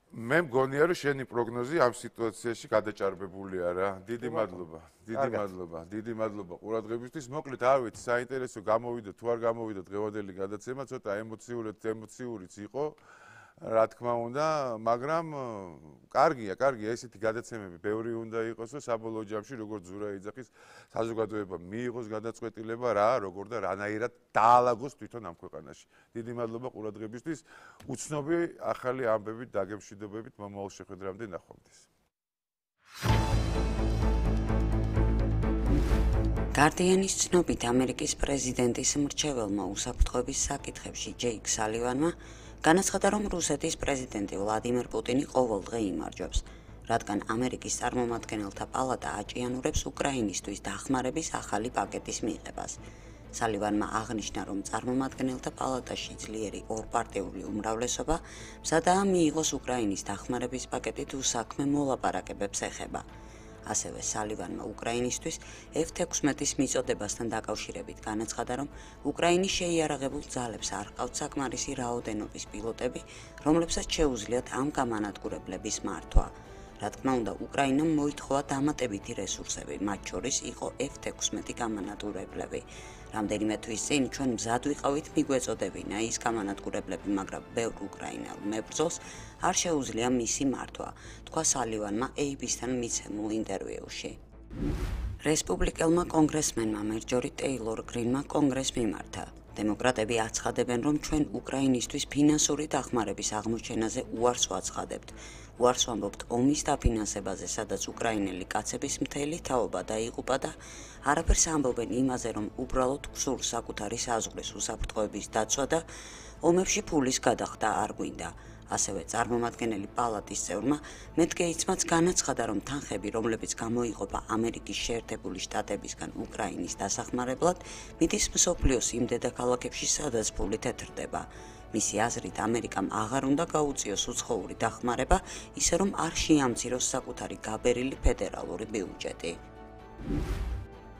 მე მგონია რომ შენი პროგნოზი ამ სიტუაციაში გადაჭარბებულია რა. დიდი მადლობა. დიდი მადლობა. დიდი მადლობა ყურადღებისთვის. მოკლედ არ ვიცი, საინტერესო გამოვიდა თუ არ გამოვიდა დღევანდელი გადაცემა, ცოტა ემოციური ემოციურიც იყო. რა თქმა უნდა, მაგრამ კარგია, კარგია, ესეთი გადაცემები ბევრი უნდა იყოს, რომ საბოლოო ჯამში როგორც ზურა იძახის საზოგადოება მიიღოს გადაწყვეტილება რა, როგორ და რანაირად დაალაგოს თვითონ ამ ქვეყანაში. დიდი მადლობა ყურადღებისთვის. უცნობი ახალი ამბებით დაგემშვიდობებით მომავალ შეხვედრამდე ნახვამდის. გარდიანის ცნობით ამერიკის პრეზიდენტის მრჩეველმა უსაფრთხოების საკითხებში ჯეიკ სალივანმა განაცხადა, რომ რუსეთის პრეზიდენტი ვლადიმერ პუტინი ყოველდღე იმარჯვებს, რადგან ამერიკის წარმომადგენელთა პალატა აჭიანურებს უკრაინისთვის დახმარების ახალი პაკეტის მიღებას. სალივანმა აღნიშნა, რომ წარმომადგენელთა პალატაში ძლიერი ორპარტიული უმრავლესობა მზადაა მიიღოს უკრაინის დახმარების პაკეტი თუ საქმე მოლაპარაკებებს ეხება. ასევე სალივანმა უკრაინისთვის ეფ ექვსმეტის მიწოდებასთან დაკავშირებით განაცხადა, რომ უკრაინის შეიარაღებულ ძალებს არ ჰყავთ საკმარისი რაოდენობის პილოტები, რომლებსაც შეუძლიათ ამ გამანადგურებლების მართვა. რა თქმა უნდა, უკრაინამ მოითხოვა დამატებითი რესურსები, მათ შორის იყო ეფ ექვსმეტი გამანადგურებლები. რამდენიმე თვის წინ ჩვენ მზად ვიყავით მიგვეწოდებინა ის გამანადგურებლები, მაგრამ ბევრ უკრაინელ მებრძოლს არ შეუძლია მისი მართვა, თქვა სალივანმა ეი ბი-სთან მიცემულ ინტერვიუში. რესპუბლიკელმა კონგრესმენმა მერჯორი ტეილორ გრინმა კონგრესს მიმართა. დემოკრატები აცხადებენ, რომ ჩვენ უკრაინისთვის ფინანსური დახმარების აღმოჩენაზე უარს ვაცხადებთ. უარს ვამბობთ ომის დაფინანსებაზე, სადაც უკრაინელი კაცების მთელი თაობა დაიღუპა და არაფერს ამბობენ იმაზე, რომ უბრალოდ გსურს საკუთარი საზღვრის უსაფრთხოების დაცვა და ომებში ფულის გადახდა არ გვინდა. ასევე წარმომადგენელი პალატის წევრმა მეტ გეიცმაც განაცხადა, რომ თანხები, რომლებიც გამოიყოფა ამერიკის შეერთებული შტატებისგან უკრაინის დასახმარებლად, მიდის მსოფლიოს იმ დედაქალაქებში, სადაც ფული თეთრდება. მისი აზრით, ამერიკამ აღარ უნდა გაუწიოს უცხოური დახმარება, ისე რომ არ შეამციროს საკუთარი გაბერილი ფედერალური ბიუჯეტი.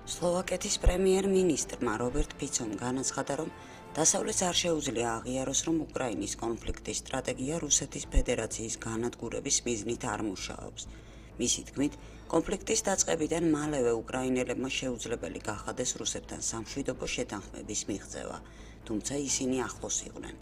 სლოვაკეთის პრემიერ-მინისტრმა რობერტ ფიცომ განაცხადა, რომ დასავლეთს არ შეუძლია აღიაროს, რომ უკრაინის კონფლიქტის სტრატეგია რუსეთის ფედერაციის განადგურების მიზნით არ მუშაობს. მისი თქმით, კონფლიქტის დაწყებიდან მალევე უკრაინელებმა შეუძლებელი გახადეს რუსებთან სამშვიდობო შეთანხმების მიღწევა, თუმცა ისინი ახლოს იყვნენ.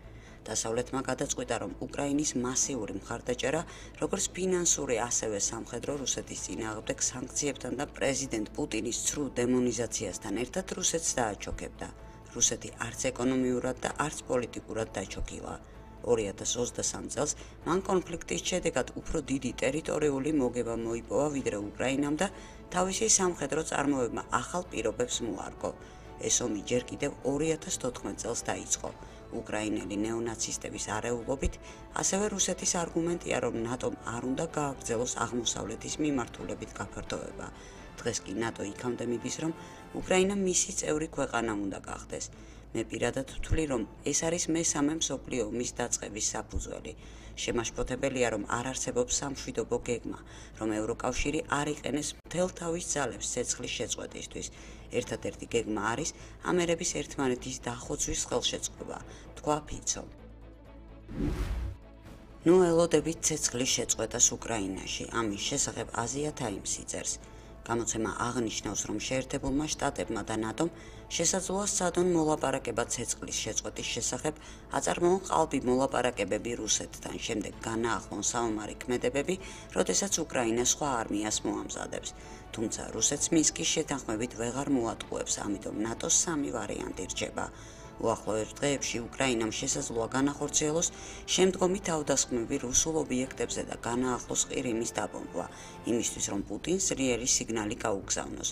დასავლეთმა გადაწყვიტა, რომ უკრაინის მასიური მხარდაჭერა, როგორც ფინანსური, ასევე სამხედრო რუსეთის წინააღმდეგ სანქციებთან და პრეზიდენტ პუტინის ცრუ დემონიზაციასთან ერთად რუსეთს დააჩოქებდა. რუსეთი არც ეკონომიურად და არც პოლიტიკურად დაჩოქილა. ორი ათას ოცდასამ წელს მან კონფლიქტის შედეგად უფრო დიდი ტერიტორიული მოგება მოიპოვა ვიდრე უკრაინამ და თავისი სამხედრო წარმოებმა ახალ პირობებს მოარგო. ეს ომი ჯერ კიდევ ორი ათას თოთხმეტ წელს დაიწყო. უკრაინელი ნეონაცისტების არეულობით, ასევე რუსეთის არგუმენტია, რომ ნატომ არ უნდა გააგრძელოს აღმოსავლეთის მიმართულებით გაფართოება. დღეს კი ნატო იქამდე მიდის, რომ უკრაინა მისი წევრი ქვეყანა უნდა გახდეს. მე პირადად ვთვლი, რომ ეს არის მესამე მსოფლიო ომის დაწყების საფუძველი. შემაშფოთებელია, რომ არ არსებობს სამშვიდობო გეგმა, რომ ევროკავშირი არ იყენეს მთელ თავის ძალებს ცეცხლის შეწყვეტისთვის. ერთადერთი გეგმა არის ამერების ერთმანეთის დახოცვის ხელშეწყობა, თქვა ფიცომ. ნუ ელოდებით ცეცხლის შეწყვეტას უკრაინაში, ამის შესახებ აზია თაიმსი წერს. გამოცემა აღნიშნავს, რომ შეერთებულმა შტატებმა და ნატომ შესაძლოა სადონ მოლაპარაკება ცეცხლის შეწყვეტის შესახებ, აწარმოონ ყალბი მოლაპარაკებები რუსეთთან, შემდეგ განაახლონ საომარი ქმედებები, როდესაც უკრაინა სხვა არმიას მოამზადებს. თუმცა რუსეთს მინსკის შეთანხმებით ვეღარ მოატყუებს, ამიტომ ნატოს სამი ვარიანტი რჩება. უახლოეს დღეებში უკრაინამ შესაძლოა განახორციელოს შემდგომი თავდასხმები რუსულ ობიექტებზე და განაახლოს ყირიმის დაბომბვა, იმისთვის რომ პუტინს ძლიერი სიგნალი გაუგზავნოს.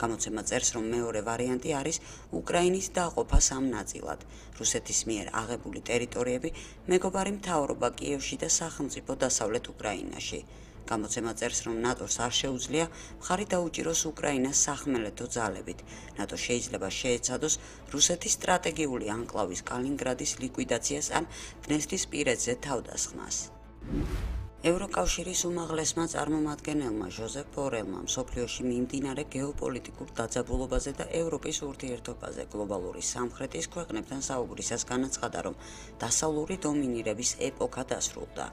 გამოცემა წერს, რომ მეორე ვარიანტი არის უკრაინის დაყოფა სამ ნაწილად, რუსეთის მიერ აღებული ტერიტორიები, მეგობარი მთავრობა კიევში და სახელმწიფო დასავლეთ უკრაინაში. გამოცემა წერს, რომ ნატოს არ შეუძლია მხარი დაუჭიროს უკრაინას სახმელეთო ძალებით. ნატო შეიძლება შეეცადოს რუსეთის სტრატეგიული ანკლავის კალინინგრადის ლიკვიდაციას ან დნესტრისპირეთზე თავდასხმას. ევროკავშირის უმაღლესმა წარმომადგენელმა ჟოზეფ ბორელმა მსოფლიოში მიმდინარე გეოპოლიტიკურ დაძაბულობაზე და ევროპის ურთიერთობაზე გლობალური სამხრეთის ქვეყნებთან საუბრისას განაცხადა, რომ დასავლური დომინირების ეპოქა დასრულდა.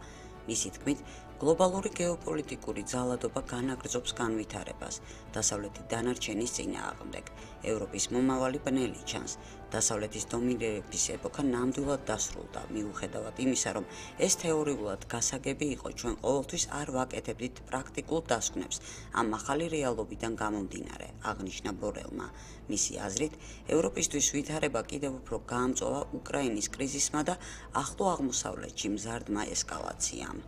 მისი თქმით, გლობალური გეოპოლიტიკური ძალადობა განაგრძობს განვითარებას, დასავლეთი დანარჩენის წინააღმდეგ. ევროპის მომავალი ბნელი ჩანს. დასავლეთის დომინირების ეპოქა ნამდვილად დასრულდა, მიუხედავად იმისა, რომ ეს თეორიულად გასაგები იყო, ჩვენ ყოველთვის არ ვაკეთებდით პრაქტიკულ დასკვნებს ამ ახალი რეალობიდან გამომდინარე, აღნიშნა ბორელმა. მისი აზრით, ევროპისთვის ვითარება კიდევ უფრო გაამწვავა უკრაინის კრიზისმა და ახლო აღმოსავლეთში მზარდმა ესკალაციამ.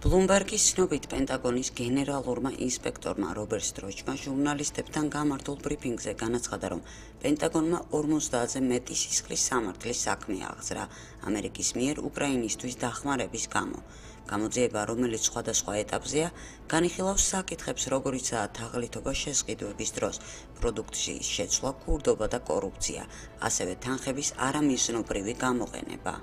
ბლუმბერგის ცნობით, პენტაგონის გენერალურმა ინსპექტორმა რობერტ სტროჩმა ჟურნალისტებთან გამართულ ბრიფინგზე განაცხადა, რომ პენტაგონმა ორმოცდაათზე მეტი სისხლის სამართლის საქმე აღძრა ამერიკის მიერ უკრაინისთვის დახმარების გამო. გამოძიება, რომელიც სხვადასხვა ეტაპზეა, განიხილავს საკითხებს, როგორიცაა თაღლითობა შესყიდვების დროს, პროდუქციის შეცვლა, ქურდობა და კორუფცია, ასევე თანხების არამიზნობრივი გამოყენება.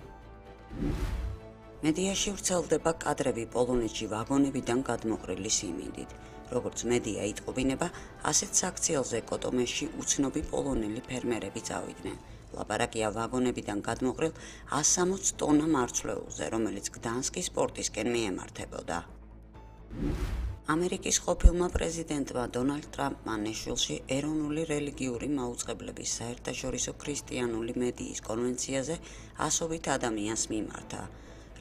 მედიაში ვრცელდება კადრები პოლონეთში ვაგონებიდან გადმოყრილი სიმინდით. როგორც მედია იტყობინება, ასეთ საქციელზე კოტომეში უცნობი პოლონელი ფერმერები წავიდნენ. ლაპარაკია ვაგონებიდან გადმოყრილ ას სამოც ტონა მარცვლეულზე, რომელიც გდანსკის პორტისკენ მიემართებოდა. ამერიკის ყოფილმა პრეზიდენტმა დონალდ ტრამპმა ნეშვილში ეროვნული რელიგიური მაუწყებლების საერთაშორისო ქრისტიანული მედიის კონვენციაზე ასობით ადამიანს მიმართა.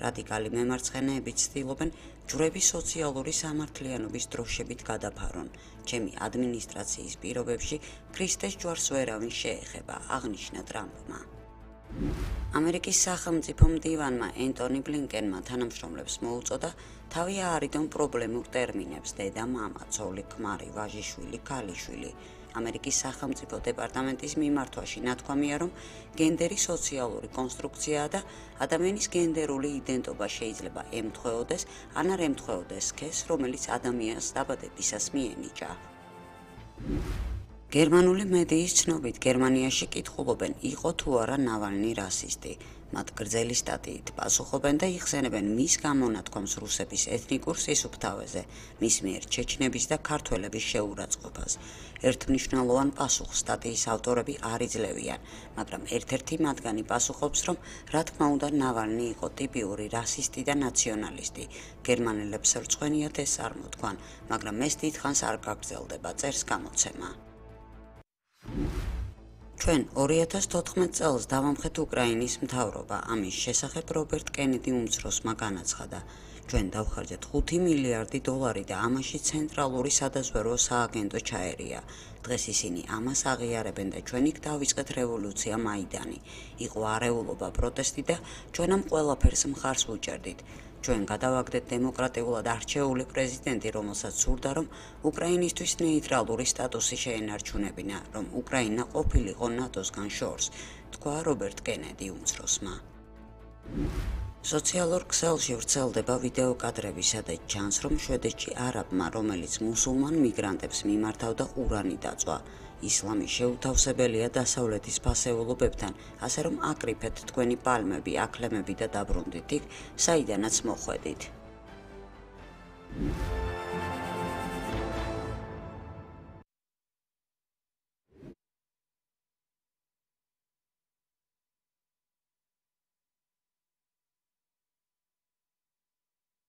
რადიკალი მემარცხენეები ცდილობენ ჯვრები სოციალური სამართლიანობის დროშებით გადაფარონ. ჩემი ადმინისტრაციის პირობებში ქრისტეს ჯვარს ვერავინ შეეხება, აღნიშნა ტრამპმა. ამერიკის სახელმწიფო მდივანმა ენტონი ბლინკენმა თანამშრომლებს მოუწოდა თავი აარიდონ პრობლემურ ტერმინებს დედა, მამა, ცოლი, ქმარი, ვაჟიშვილი, ქალიშვილი. ამერიკის სახელმწიფო დეპარტამენტის მიმართვაში ნათქვამია, რომ გენდერი სოციალური კონსტრუქციაა და ადამიანის გენდერული იდენტობა შეიძლება ემთხვეოდეს ან არ ემთხვეოდეს სქესს, რომელიც ადამიანს დაბადებისას მიენიჭა. გერმანული მედიის ცნობით გერმანიაში კითხულობენ, იყო თუ არა ნავალნი რასისტი. მათ გრძელი სტატიით პასუხობენ და იხსენებენ მის გამონათქვამს რუსების ეთნიკურ სისუფთავეზე, მის მიერ ჩეჩნების და ქართველების შეურაცხყოფას. ერთმნიშვნელოვან პასუხს სტატიის ავტორები არ იძლევიან, მაგრამ ერთ-ერთი მათგანი პასუხობს, რომ რა თქმა უნდა ნავალნი იყო ტიპიური რასისტი და ნაციონალისტი. გერმანელებს რწყვენიათ ეს არ მოთქვან, მაგრამ ეს დიდხანს არ გაგრძელდება, წერს გამოცემა. ჩვენ ორი ათას თოთხმეტ წელს დავამხეთ უკრაინის მთავრობა, ამის შესახებ რობერტ კენედი უმცროსმა განაცხადა. ჩვენ დავხარჯეთ ხუთი მილიარდი დოლარი და ამაში ცენტრალური სადაზვერვო სააგენტო ჩაერია. დღეს ისინი ამას აღიარებენ და ჩვენ იქ დავიწყეთ რევოლუცია მაიდანი. იყო არეულობა, პროტესტი და ჩვენ ამ ყველაფერს მხარს ვუჭერდით. ჩვენ გადავაგდეთ დემოკრატიულად არჩეული პრეზიდენტი, რომელსაც სურდა, რომ უკრაინისთვის ნეიტრალური სტატუსი შეენარჩუნებინა, რომ უკრაინა ყოფილიყო ნატოსგან შორს, თქვა რობერტ კენედი უმცროსმა. სოციალურ ქსელში ვრცელდება ვიდეო კადრები, სადაც ჩანს, რომ შვედეთში არაბმა, რომელიც მუსულმან მიგრანტებს მიმართავდა, ყურანი დაწვა. ისლამი შეუთავსებელია დასავლეთის ფასეულობებთან, ასე რომ აკრიფეთ თქვენი პალმები, აქლემები და დაბრუნდით იქ, საიდანაც მოხვედით.